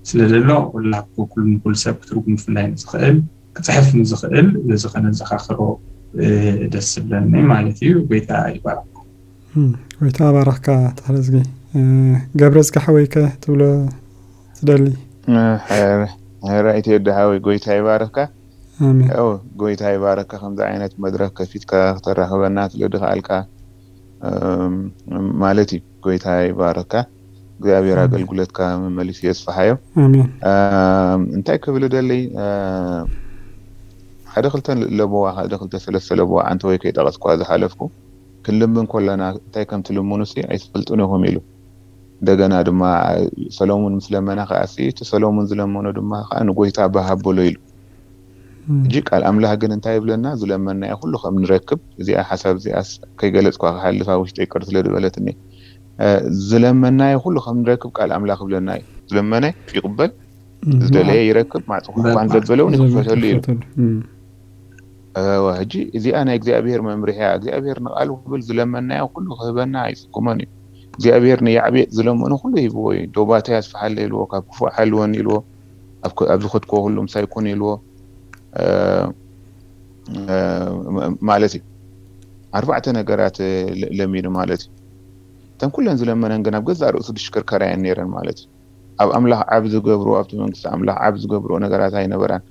ስለ ዘሎ ኩላ ኩሉ ንኩሉ ሰብ ክትርጉም ብፍላይ ንዝኽእል ክፅሕፍ ንዝኽእል በዚ ከነዘኻኽሮ ደስ ዝብለኒ ማለት እዩ። ጎይታ ይባርኩም። ጎይታ ኣባራኽካ ተኽለዝጊ። ገብረ ዝጋሓወይከ ትብሎ ትደሊ? ራእይቲ ወዲ ሓወይ ጎይታ ይባርኽካ። ኣሜን። ያው ጎይታ ይባርካ ከምዚ ዓይነት መድረክ ከፊትካ ክተራኽበና ስለ ድኽኣልካ ማለት እዩ። ጎይታ ይባርካ። እግዚኣብሔር ኣገልግሎትካ መመሊሱ የስፍሓዮ። ኣሜን። እንታይ ክብል ደለይ ሓደ ክልተ ለበዋ ሓደ ክልተ ሰለስተ ለበዋ ኣንተ ወይ ከይጠቐስኳ ዝሓለፍኩ ክንልምን ኮለና እንታይ ከም ትልምኑ ሲ ኣይትፈልጡን ኢኹም ኢሉ። እንደገና ድማ ሰሎሙን ምስ ለመና ከዓ ሲ እቲ ሰሎሙን ዝለመኖ ድማ ከዓ ንጎይታ ባህ ኣበሎ ኢሉ። እጂ ቃል ኣምላኽ ግን እንታይ ይብለና? ዝለመናዮ ኩሉ ከም ንረክብ። እዚኣ ሓሳብ እዚኣስ ከይገለጽኳ ክሓልፋ ውሽጠይ ቅር ስለ ዝበለትኒ። ዝለመናዮ ኩሉ ከም ንረክብ ቃል ኣምላኽ ይብለና እዩ። ዝለመነ ይቕበል፣ ዝደለየ ይረክብ፣ ማዕጾ ኳን ዘበለውን ይኽፈተሉ እዩ። ሕጂ እዚኣ ናይ እግዚኣብሔር መምርሒ እያ። እግዚኣብሔር ንቃሉ ክብል ዝለመናዮ ኩሉ ክህበና ኣይጽጉሞን እዩ። እግዚኣብሔር ንያዕቤጥ ዝለመኑ ኩሉ ሂብዎ እዩ። ዶባተይ ኣስፍሓለይ ኢልዎ፣ ካብ ክፉእ ሓልወኒ ኢልዎ፣ ኣብ ዝኸድክዎ ኩሉ ምሳይ ኩን ኢልዎ ማለት እዩ። ኣርባዕተ ነገራት ለሚኑ ማለት እዩ። እተን ኩለን ዝለመነን ግን ኣብ ገዛእ ርእሱ ድሽከርከራ እየን ነይረን ማለት እዩ። ኣብ ኣምላኽ ዓብ ዝገብርዎ ኣብቲ መንግስቲ ኣምላኽ ዓብ ዝገብርዎ ነገራት ኣይነበራን።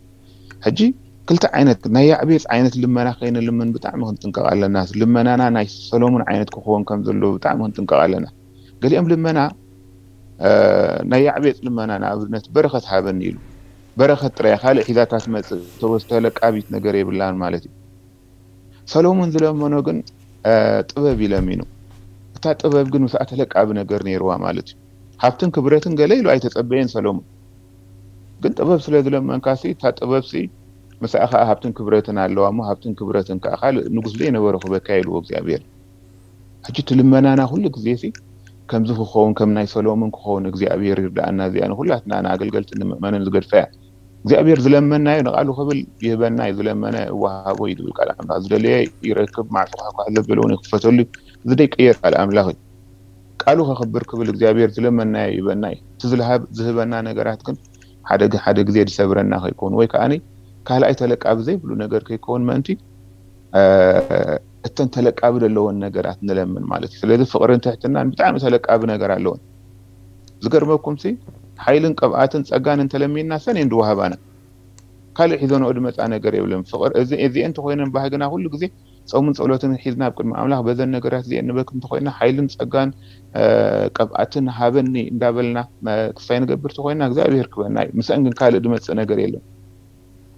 ሕጂ ክልተ ዓይነት ናይ ያዕቤጽ ዓይነት ልመና ከይንልምን ብጣዕሚ ክንጥንቀቕ ኣለና። ልመናና ናይ ሰሎሙን ዓይነት ክኸውን ከም ዘለዎ ብጣዕሚ ክንጥንቀቕ ኣለና። ገሊኦም ልመና ናይ ያዕቤጽ ልመና ንኣብነት በረኸት ሃበኒ ኢሉ በረኸት ጥራይ ካልእ ሒዛታ ትመጽእ ተወስተ ለቃቢት ነገር የብላን ማለት እዩ። ሰሎሙን ዝለመኖ ግን ጥበብ ይለሚኑ። እታ ጥበብ ግን ምስኣ ተለቃቢ ነገር ነይርዋ ማለት እዩ። ሃብትን ክብረትን ገለ ኢሉ ኣይተጸበየን ሰሎሙን። ግን ጥበብ ስለ ዝለመንካ ሲ እታ ጥበብ ሲ ምስኣ ከዓ ሃብትን ክብረትን ኣለዋ እሞ ሃብትን ክብረትን ከዓ ካልእ ንጉስ ዘይነበረ ክበካ ኢልዎ እግዚኣብሔር። ሕጂ እቲ ልመናና ኩሉ ግዜ ሲ ከምዚ ክኸውን ከም ናይ ሰሎሙን ክኸውን እግዚኣብሔር ይርዳኣና። እዚኣ ንኩላትና ንኣገልገልቲ ንምእመንን ዝገድፈ እያ። እግዚኣብሔር ዝለመናዮ ንቃሉ ክብል ይህበና እዩ። ዝለመነ እወሃቦ እዩ ዝብል ቃል ኣምላኽ። ዝደለየ ይረክብ፣ ማዕጾ ኳሕኳሕ ዘበለ እውን ይኽፈተሉ እዩ። እዚ ደይቀየር ቃል ኣምላኽ እዩ። ቃሉ ከኽብር ክብል እግዚኣብሔር ዝለመናዮ ይህበና እዩ። እቲ ዝልሃብ ዝህበና ነገራት ግን ሓደ ሓደ ግዜ ዝሰብረና ከይከውን ወይ ከዓኒ ካልኣይ ተለቃቢ ዘይብሉ ነገር ከይከውን ምእንቲ እተን ተለቃቢ ዘለወን ነገራት ንለምን ማለት እዩ። ስለዚ ፍቕርን ትሕትናን ብጣዕሚ ተለቃቢ ነገር ኣለወን። ዝገርመኩም ሲ ሓይልን ቅብኣትን ጸጋን እንተለሚንና ሰን እየን ዝወሃባና። ካልእ ሒዘንኦ ዝመጻ ነገር የብለን። ፍቕር እዚ እዚአን እንተኮይነን ባህግና ኩሉ ግዜ ጾምን ጸሎትን ሒዝና ኣብ ቅድሚ ኣምላኽ በዘን ነገራት እዚአን ንበክ እንተኮይና ሓይልን ጸጋን ቅብኣትን ሃበኒ እንዳበልና ክሳይ ንገብር ተኮይና እግዚኣብሔር ክበና እዩ። ምስአን ግን ካልእ ዝመጽእ ነገር የለን።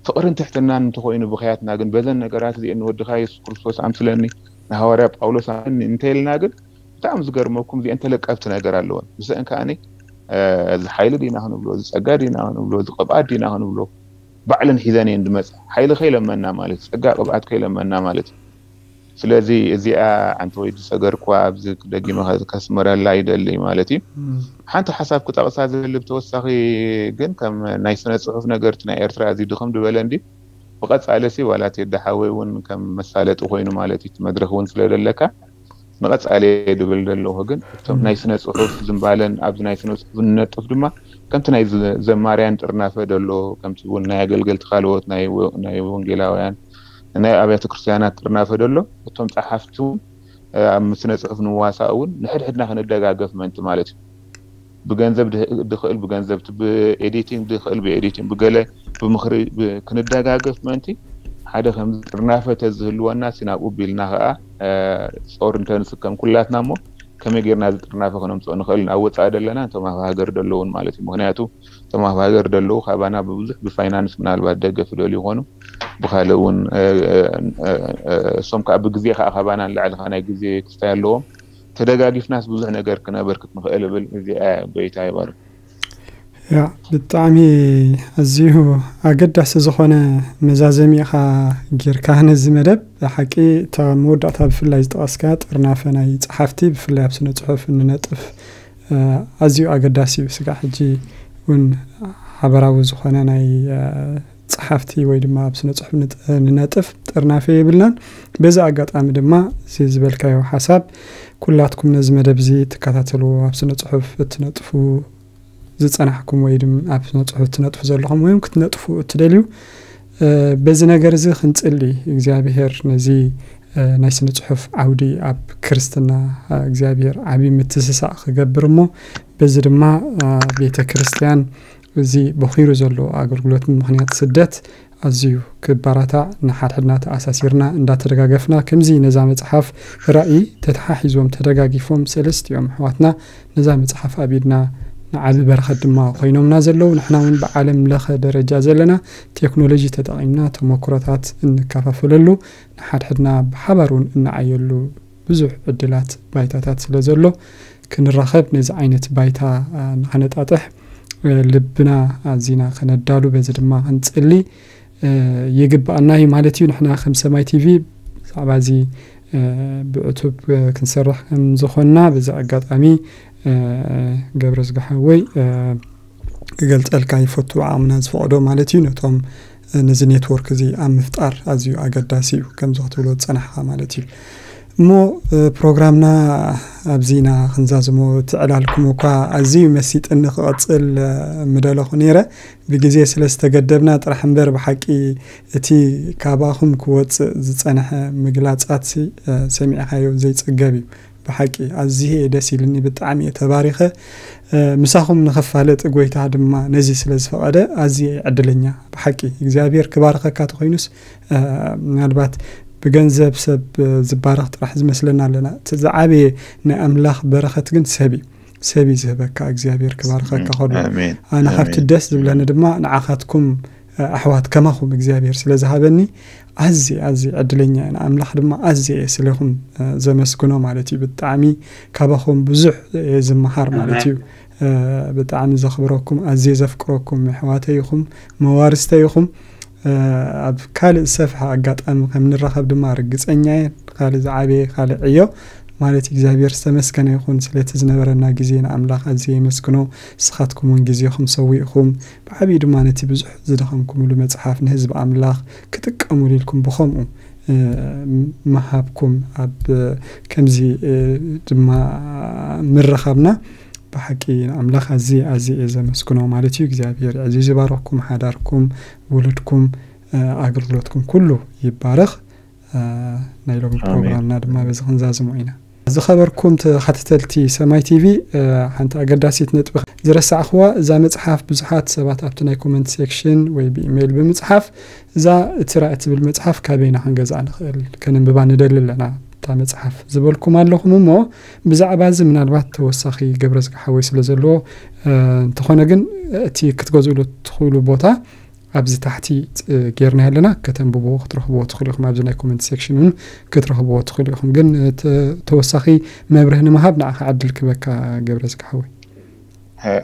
ፍቕርን ትሕትናን እንተኮይኑ ብኽያትና ግን በዘን ነገራት እዚአን ንወድኻ የሱስ ክርስቶስ ኣምስለኒ ንሃዋርያ ጳውሎስ ኣምስለኒ እንተይልና ግን ብጣዕሚ ዝገርመኩም እዚአን ተለቀብቲ ነገር ኣለወን። ምስአን ከዓኒ እዚ ሓይሊ ዲና ክንብሎ እዚ ጸጋ ዲና ክንብሎ እዚ ቅብኣት ዲና ክንብሎ ባዕለን ሒዘን እየን ዝመጻ። ሓይሊ ከይለመና ማለት ጸጋ ቅብኣት ከይለመና ማለት እዩ። ስለዚ እዚኣ ሓንቲ ወይ ዝሰገርኩዋ ኣብዚ ደጊመ ከስምረላ ይደሊ ማለት እዩ። ሓንቲ ሓሳብ ክጠቕሳ ዝብል ብተወሳኺ ግን ከም ናይ ስነ ፅሑፍ ነገር እቲ ናይ ኤርትራ እዚ ድኽም ዝበለ እንዲ ብቐፃሊ ሲ ዋላ ቴዲ ሓወይ እውን ከም መሳለጢ ኮይኑ ማለት እዩ መድረክ እውን ስለደለካ ንቐፃሊ ድብል ዘለኹ ግን እቶም ናይ ስነ ፅሑፍ ዝንባለን ኣብዚ ናይ ስነ ፅሑፍ ንነጥፍ ድማ ከምቲ ናይ ዘማርያን ጥርናፈ ደሎ ከምቲ እውን ናይ ኣገልገልቲ ካልኦት ናይ ወንጌላውያን ናይ ኣብያተ ክርስቲያናት ጥርናፈ ደሎ፣ እቶም ጸሓፍቲ እውን ኣብ ስነ ጽሑፍ ንዋሳእ እውን ንሕድሕድና ክንደጋገፍ ምእንቲ ማለት እዩ። ብገንዘብ ድኽእል ብገንዘብ፣ ብኤዲቲንግ ድኽእል ብኤዲቲንግ፣ ብገለ ብምኽሪ ክንደጋገፍ ምእንቲ ሓደ ከም ጥርናፈ ተዝህልወና ሲናብኡ ቢልና ከዓ ጾር እንተንስከም ኩላትና እሞ ከመይ ጌርና እዚ ጥርናፈ ከነምፅኦ ንኽእል? ኣብ ወፃኢ ደለና እቶም ኣብ ሃገር ደለውን ማለት እዩ። ምክንያቱ እቶም ኣብ ሃገር ደለዉ ካባና ብብዙሕ ብፋይናንስ ምናልባት ደገፍ ይደልዩ ይኾኑ፣ ብካልእ እውን እሶም ከዓ ብግዜ ከዓ ካባና ንላዕሊ ከዓ ናይ ግዜ ክስታይ ኣለዎም። ተደጋጊፍናስ ብዙሕ ነገር ክነበርክት ንኽእል እብል። እዚኣ ጎይታ ይባርክ። ያ ብጣዕሚ ኣዝዩ ኣገዳሲ ዝኾነ መዛዘሚ ኢኻ ጌርካ ነዚ መደብ። ሓቂ እታ መወዳእታ ብፍላይ ዝጠቐስካ ጥርናፈ ናይ ጸሓፍቲ ብፍላይ ኣብ ስነ ጽሑፍ እንነጥፍ ኣዝዩ ኣገዳሲ እዩ። ስጋዕ ሕጂ እውን ሓበራዊ ዝኾነ ናይ ጸሓፍቲ ወይ ድማ ኣብ ስነ ጽሑፍ ንነጥፍ ጥርናፈ የብልናን። በዚ ኣጋጣሚ ድማ እዚ ዝበልካዮ ሓሳብ ኩላትኩም ነዚ መደብ እዚ ትከታተልዎ ኣብ ስነ ጽሑፍ እትነጥፉ ዝጸናሕኩም ወይ ድማ ኣብ ስነ ጽሑፍ እትነጥፉ ዘለኹም ወይ ክትነጥፉ እትደልዩ በዚ ነገር እዚ ክንጽሊ እግዚኣብሔር ነዚ ናይ ስነ ጽሑፍ ዓውዲ ኣብ ክርስትና እግዚኣብሔር ዓብዪ ምትስሳእ ክገብር እሞ በዚ ድማ ቤተ ክርስቲያን እዚ በኺሩ ዘሎ ኣገልግሎት ብምኽንያት ስደት ኣዝዩ ክባራታዕ ንሓድሕድና ተኣሳሲርና እንዳተደጋገፍና ከምዚ ነዛ መጽሓፍ ራእይ ተተሓሒዞም ተደጋጊፎም ሰለስቲኦም ኣሕዋትና ነዛ መጽሓፍ ኣብ ኢድና ንዓቢ በረኸት ድማ ኮይኖምና ዘለዉ ንሕና እውን ብዓለም ለኸ ደረጃ ዘለና ቴክኖሎጂ ተጠቒምና ተመክሮታት እንከፋፈለሉ ንሓድሕድና ብሓባር እውን እንዓየሉ ብዙሕ ዕድላት ባይታታት ስለ ዘሎ ክንራኸብ ነዚ ዓይነት ባይታ ንኸነጣጥሕ ልብና ኣዚና ከነዳሉ በዚ ድማ ክንጽሊ ይግባኣና እዩ ማለት እዩ። ንሕና ከም ሰማይ ቲቪ ብዛዕባ እዚ ብዕቱብ ክንሰርሕ ከም ዝኾንና በዚ ኣጋጣሚ ገብረ ዝግሓወይ ክገልጸልካ ይፈቱ ዓቕምና ዝፈቕዶ ማለት እዩ። ነቶም ነዚ ኔትወርክ እዚ ኣብ ምፍጣር ኣዝዩ ኣገዳሲ እዩ ከምዚ ክትብሎ ዝጸናሕካ ማለት እዩ። እሞ ፕሮግራምና ኣብዚና ክንዛዝሞ እቲ ዕላልኩም እኳ ኣዝዩ መሲጥኒ ክቐጽል ምደለኹ ነይረ ብግዜ ስለ ዝተገደብና ጥራሕ እምበር ብሓቂ እቲ ካባኹም ክወፅእ ዝፀንሐ ምግላፃት ሰሚዕኻዮ ዘይፅገብ እዩ። ብሓቂ ኣዝየ ደስ ኢልኒ ብጣዕሚ እየ ተባሪኸ ምሳኹም ንኸፋለጥ ጎይታ ድማ ነዚ ስለ ዝፈቐደ ኣዝየ ዕድለኛ ብሓቂ እግዚኣብሔር ክባርኸካ ተኾይኑስ ምናልባት ብገንዘብ ሰብ ዝባረኽ ጥራሕ ዝመስለና ኣለና እቲ ዝዓበየ ናይ ኣምላኽ በረኸት ግን ሰብ እዩ ሰብ እዩ ዝህበካ እግዚኣብሔር ክባርኸካ ከሎ ኣነ ካብቲ ደስ ዝብለኒ ድማ ንዓኻትኩም ኣሕዋት ከማኹም እግዚኣብሔር ስለ ዝሃበኒ ኣዝየ ኣዝየ ዕድለኛ እየ ንኣምላኽ ድማ ኣዝየ እየ ስለኹም ዘመስግኖ ማለት እዩ ብጣዕሚ ካባኹም ብዙሕ እየ ዝመሃር ማለት እዩ ብጣዕሚ ዘኽብረኩም ኣዝየ ዘፍቅረኩም ኣሕዋተይ ኢኹም መዋርስተይ ኢኹም ኣብ ካልእ ዝሰፍሐ ኣጋጣሚ ከም ንራኸብ ድማ ርግፀኛ እየ ካልእ ዝዓበየ ካልእ ዕዮ ማለት እግዚኣብሔር ዝተመስገነ ይኹን ስለቲ ዝነበረና ግዜ ንኣምላኽ ኣዝየ የመስግኖ ንስኻትኩም እውን ግዜኹም ሰዊእኹም ብዓብዪ ድማ ነቲ ብዙሕ ዝደኸምኩምሉ መፅሓፍ ንህዝቢ ኣምላኽ ክጥቀሙሉ ኢልኩም ብኸምኡ ምሃብኩም ኣብ ከምዚ ድማ ምርኻብና ብሓቂ ንኣምላኽ ኣዝየ ኣዝየ እየ ዘመስግኖ ማለት እዩ እግዚኣብሔር እዚ ዝባረኽኩም ሓዳርኩም ውሉድኩም ኣገልግሎትኩም ኩሉ ይባረኽ ናይ ሎሚ ፕሮግራምና ድማ በዚ ክንዛዝሞ ኢና ዝኸበርኩም ተኸታተልቲ ሰማይ ቲቪ ሓንቲ ኣገዳሲት ነጥቢ ዝረሳዕኽዋ እዛ መፅሓፍ ብዙሓት ሰባት ኣብቲ ናይ ኮመንት ሴክሽን ወይ ብኢሜይል ብምፅሓፍ እዛ እቲ ራእይ ትብል መፅሓፍ ካበይና ክንገዝኣ ንኽእል ከነንብባ ንደሊ ኣለና እታ መፅሓፍ ዝበልኩም ኣለኹም እሞ ብዛዕባ እዚ ምናልባት ተወሳኺ ገብረ ዝግሓወይ ስለ ዘለዎ እንተኾነ ግን እቲ ክትገዝእሉ ትኽእሉ ቦታ ኣብዚ ታሕቲ ጌርና ኣለና ከተንብብዎ ክትረኽብዎ ትኽእሉ ኢኹም ኣብዚ ናይ ኮመንት ሴክሽን እውን ክትረኽብዎ ትኽእሉ ኢኹም ግን ተወሳኺ መብርህ ንምሃብ ንዓኻ ዕድል ክበካ ገብረ ዝግሓወይ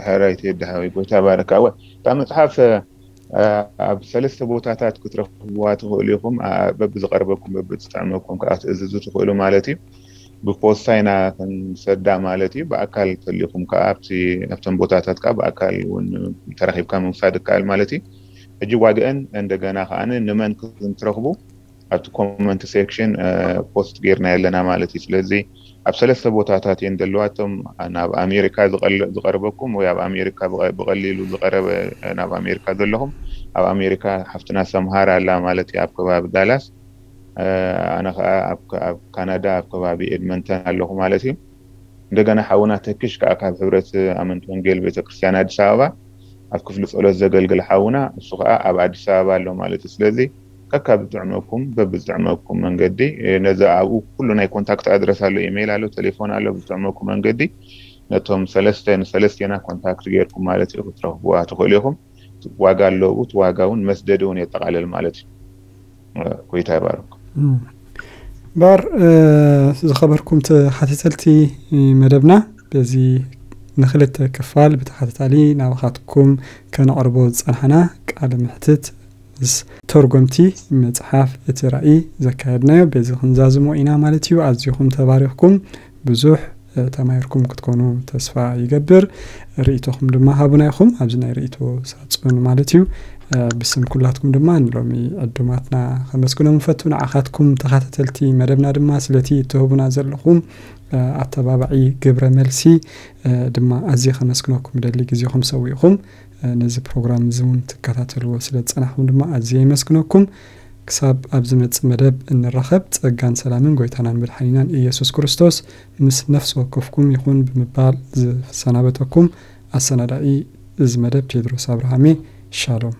ሀራይት የድሃዊ ጎይታ ባረካ ወ እታ መፅሓፍ ኣብ ሰለስተ ቦታታት ክትረኽብዋ ትኽእሉ ኢኹም በብዝቐርበኩም በብዝጥዕመኩም ከዓ ትእዝዙ ትኽእሉ ማለት እዩ ብፖስታ ኢና ክንሰዳ ማለት እዩ ብኣካል ተሊኹም ከዓ ኣብቶም ቦታታት ከዓ ብኣካል እውን ተረኺብካ ምውሳድ ይከኣል ማለት እዩ ሕጂ ዋግአን እንደገና ከዓ ንመን ክትረኽቡ ኣብቲ ኮመንት ሴክሽን ፖስት ጌርና ኣለና ማለት እዩ ስለዚ ኣብ ሰለስተ ቦታታት እየን ዘለዋ እቶም ናብ ኣሜሪካ ዝቐርበኩም ወይ ኣብ ኣሜሪካ ብቐሊሉ ዝቐረበ ናብ ኣሜሪካ ዘለኹም ኣብ ኣሜሪካ ሓፍትና ሰምሃር ኣላ ማለት እዩ ኣብ ከባቢ ዳላስ ኣነ ከዓ ኣብ ካናዳ ኣብ ከባቢ ኤድመንተን ኣለኹ ማለት እዩ። እንደገና ሓውና ተክሽ ከዓ ካብ ሕብረት ኣመንቲ ወንጌል ቤተክርስትያን ኣዲስ ኣበባ ኣብ ክፍሊ ጸሎት ዘገልግል ሓውና፣ እሱ ከዓ ኣብ ኣዲስ ኣበባ ኣሎ ማለት እዩ። ስለዚ ከካ ብጥዕመኩም በብዝጥዕመኩም መንገዲ ነዚ ኣብኡ ኩሉ ናይ ኮንታክት ኣድረስ ኣሎ፣ ኢሜይል ኣሎ፣ ቴሌፎን ኣሎ። ብዝጥዕመኩም መንገዲ ነቶም ሰለስተ ንሰለስቴና ኮንታክት ገይርኩም ማለት እዩ ክትረኽብዋ ትኽእሉ ኢኹም። ዋጋ ኣለዎ፣ እቲ ዋጋ እውን መስደዲ እውን የጠቓልል ማለት እዩ። ጎይታ ይባርኩም። ባር ዝኸበርኩም ተሓተተልቲ መደብና፣ በዚ ንክልተ ክፋል ብተሓተታሊ ናባኻትኩም ከነቕርቦ ዝጸናሕና ቃለ መሕትት ምስ ተርጎምቲ መጽሓፍ እቲ ራእይ ዘካየድናዮ በዚ ክንዛዝሞ ኢና ማለት እዩ። ኣዚኹም ተባሪኽኩም፣ ብዙሕ ተማሂርኩም ክትኮኑ ተስፋ ይገብር። ርእይቶኹም ድማ ሃቡና ኢኹም ኣብዚ ናይ ርእይቶ ሳጹን ማለት እዩ። ብስም ኩላትኩም ድማ ንሎሚ ዕዱማትና ከመስግኖም ንፈቱ። ንዓኻትኩም ተኸታተልቲ መደብና ድማ ስለቲ እትህቡና ዘለኹም ኣተባባዒ ግብረ መልሲ ድማ ኣዝየ ከመስግነኩም ደሊ፣ ግዜኹም ሰዊእኹም ነዚ ፕሮግራም እዚ እውን ትከታተልዎ ስለ ዝጸናሕኩም ድማ ኣዝየ የመስግነኩም። ክሳብ ኣብ ዝመጽእ መደብ እንራኸብ፣ ጸጋን ሰላምን ጎይታናን መድሓኒናን ኢየሱስ ክርስቶስ ምስ ነፍሲ ወከፍኩም ይኹን ብምባል ዝሰናበተኩም ኣሰናዳኢ እዚ መደብ ቴድሮስ ኣብርሃሜ። ሻሎም።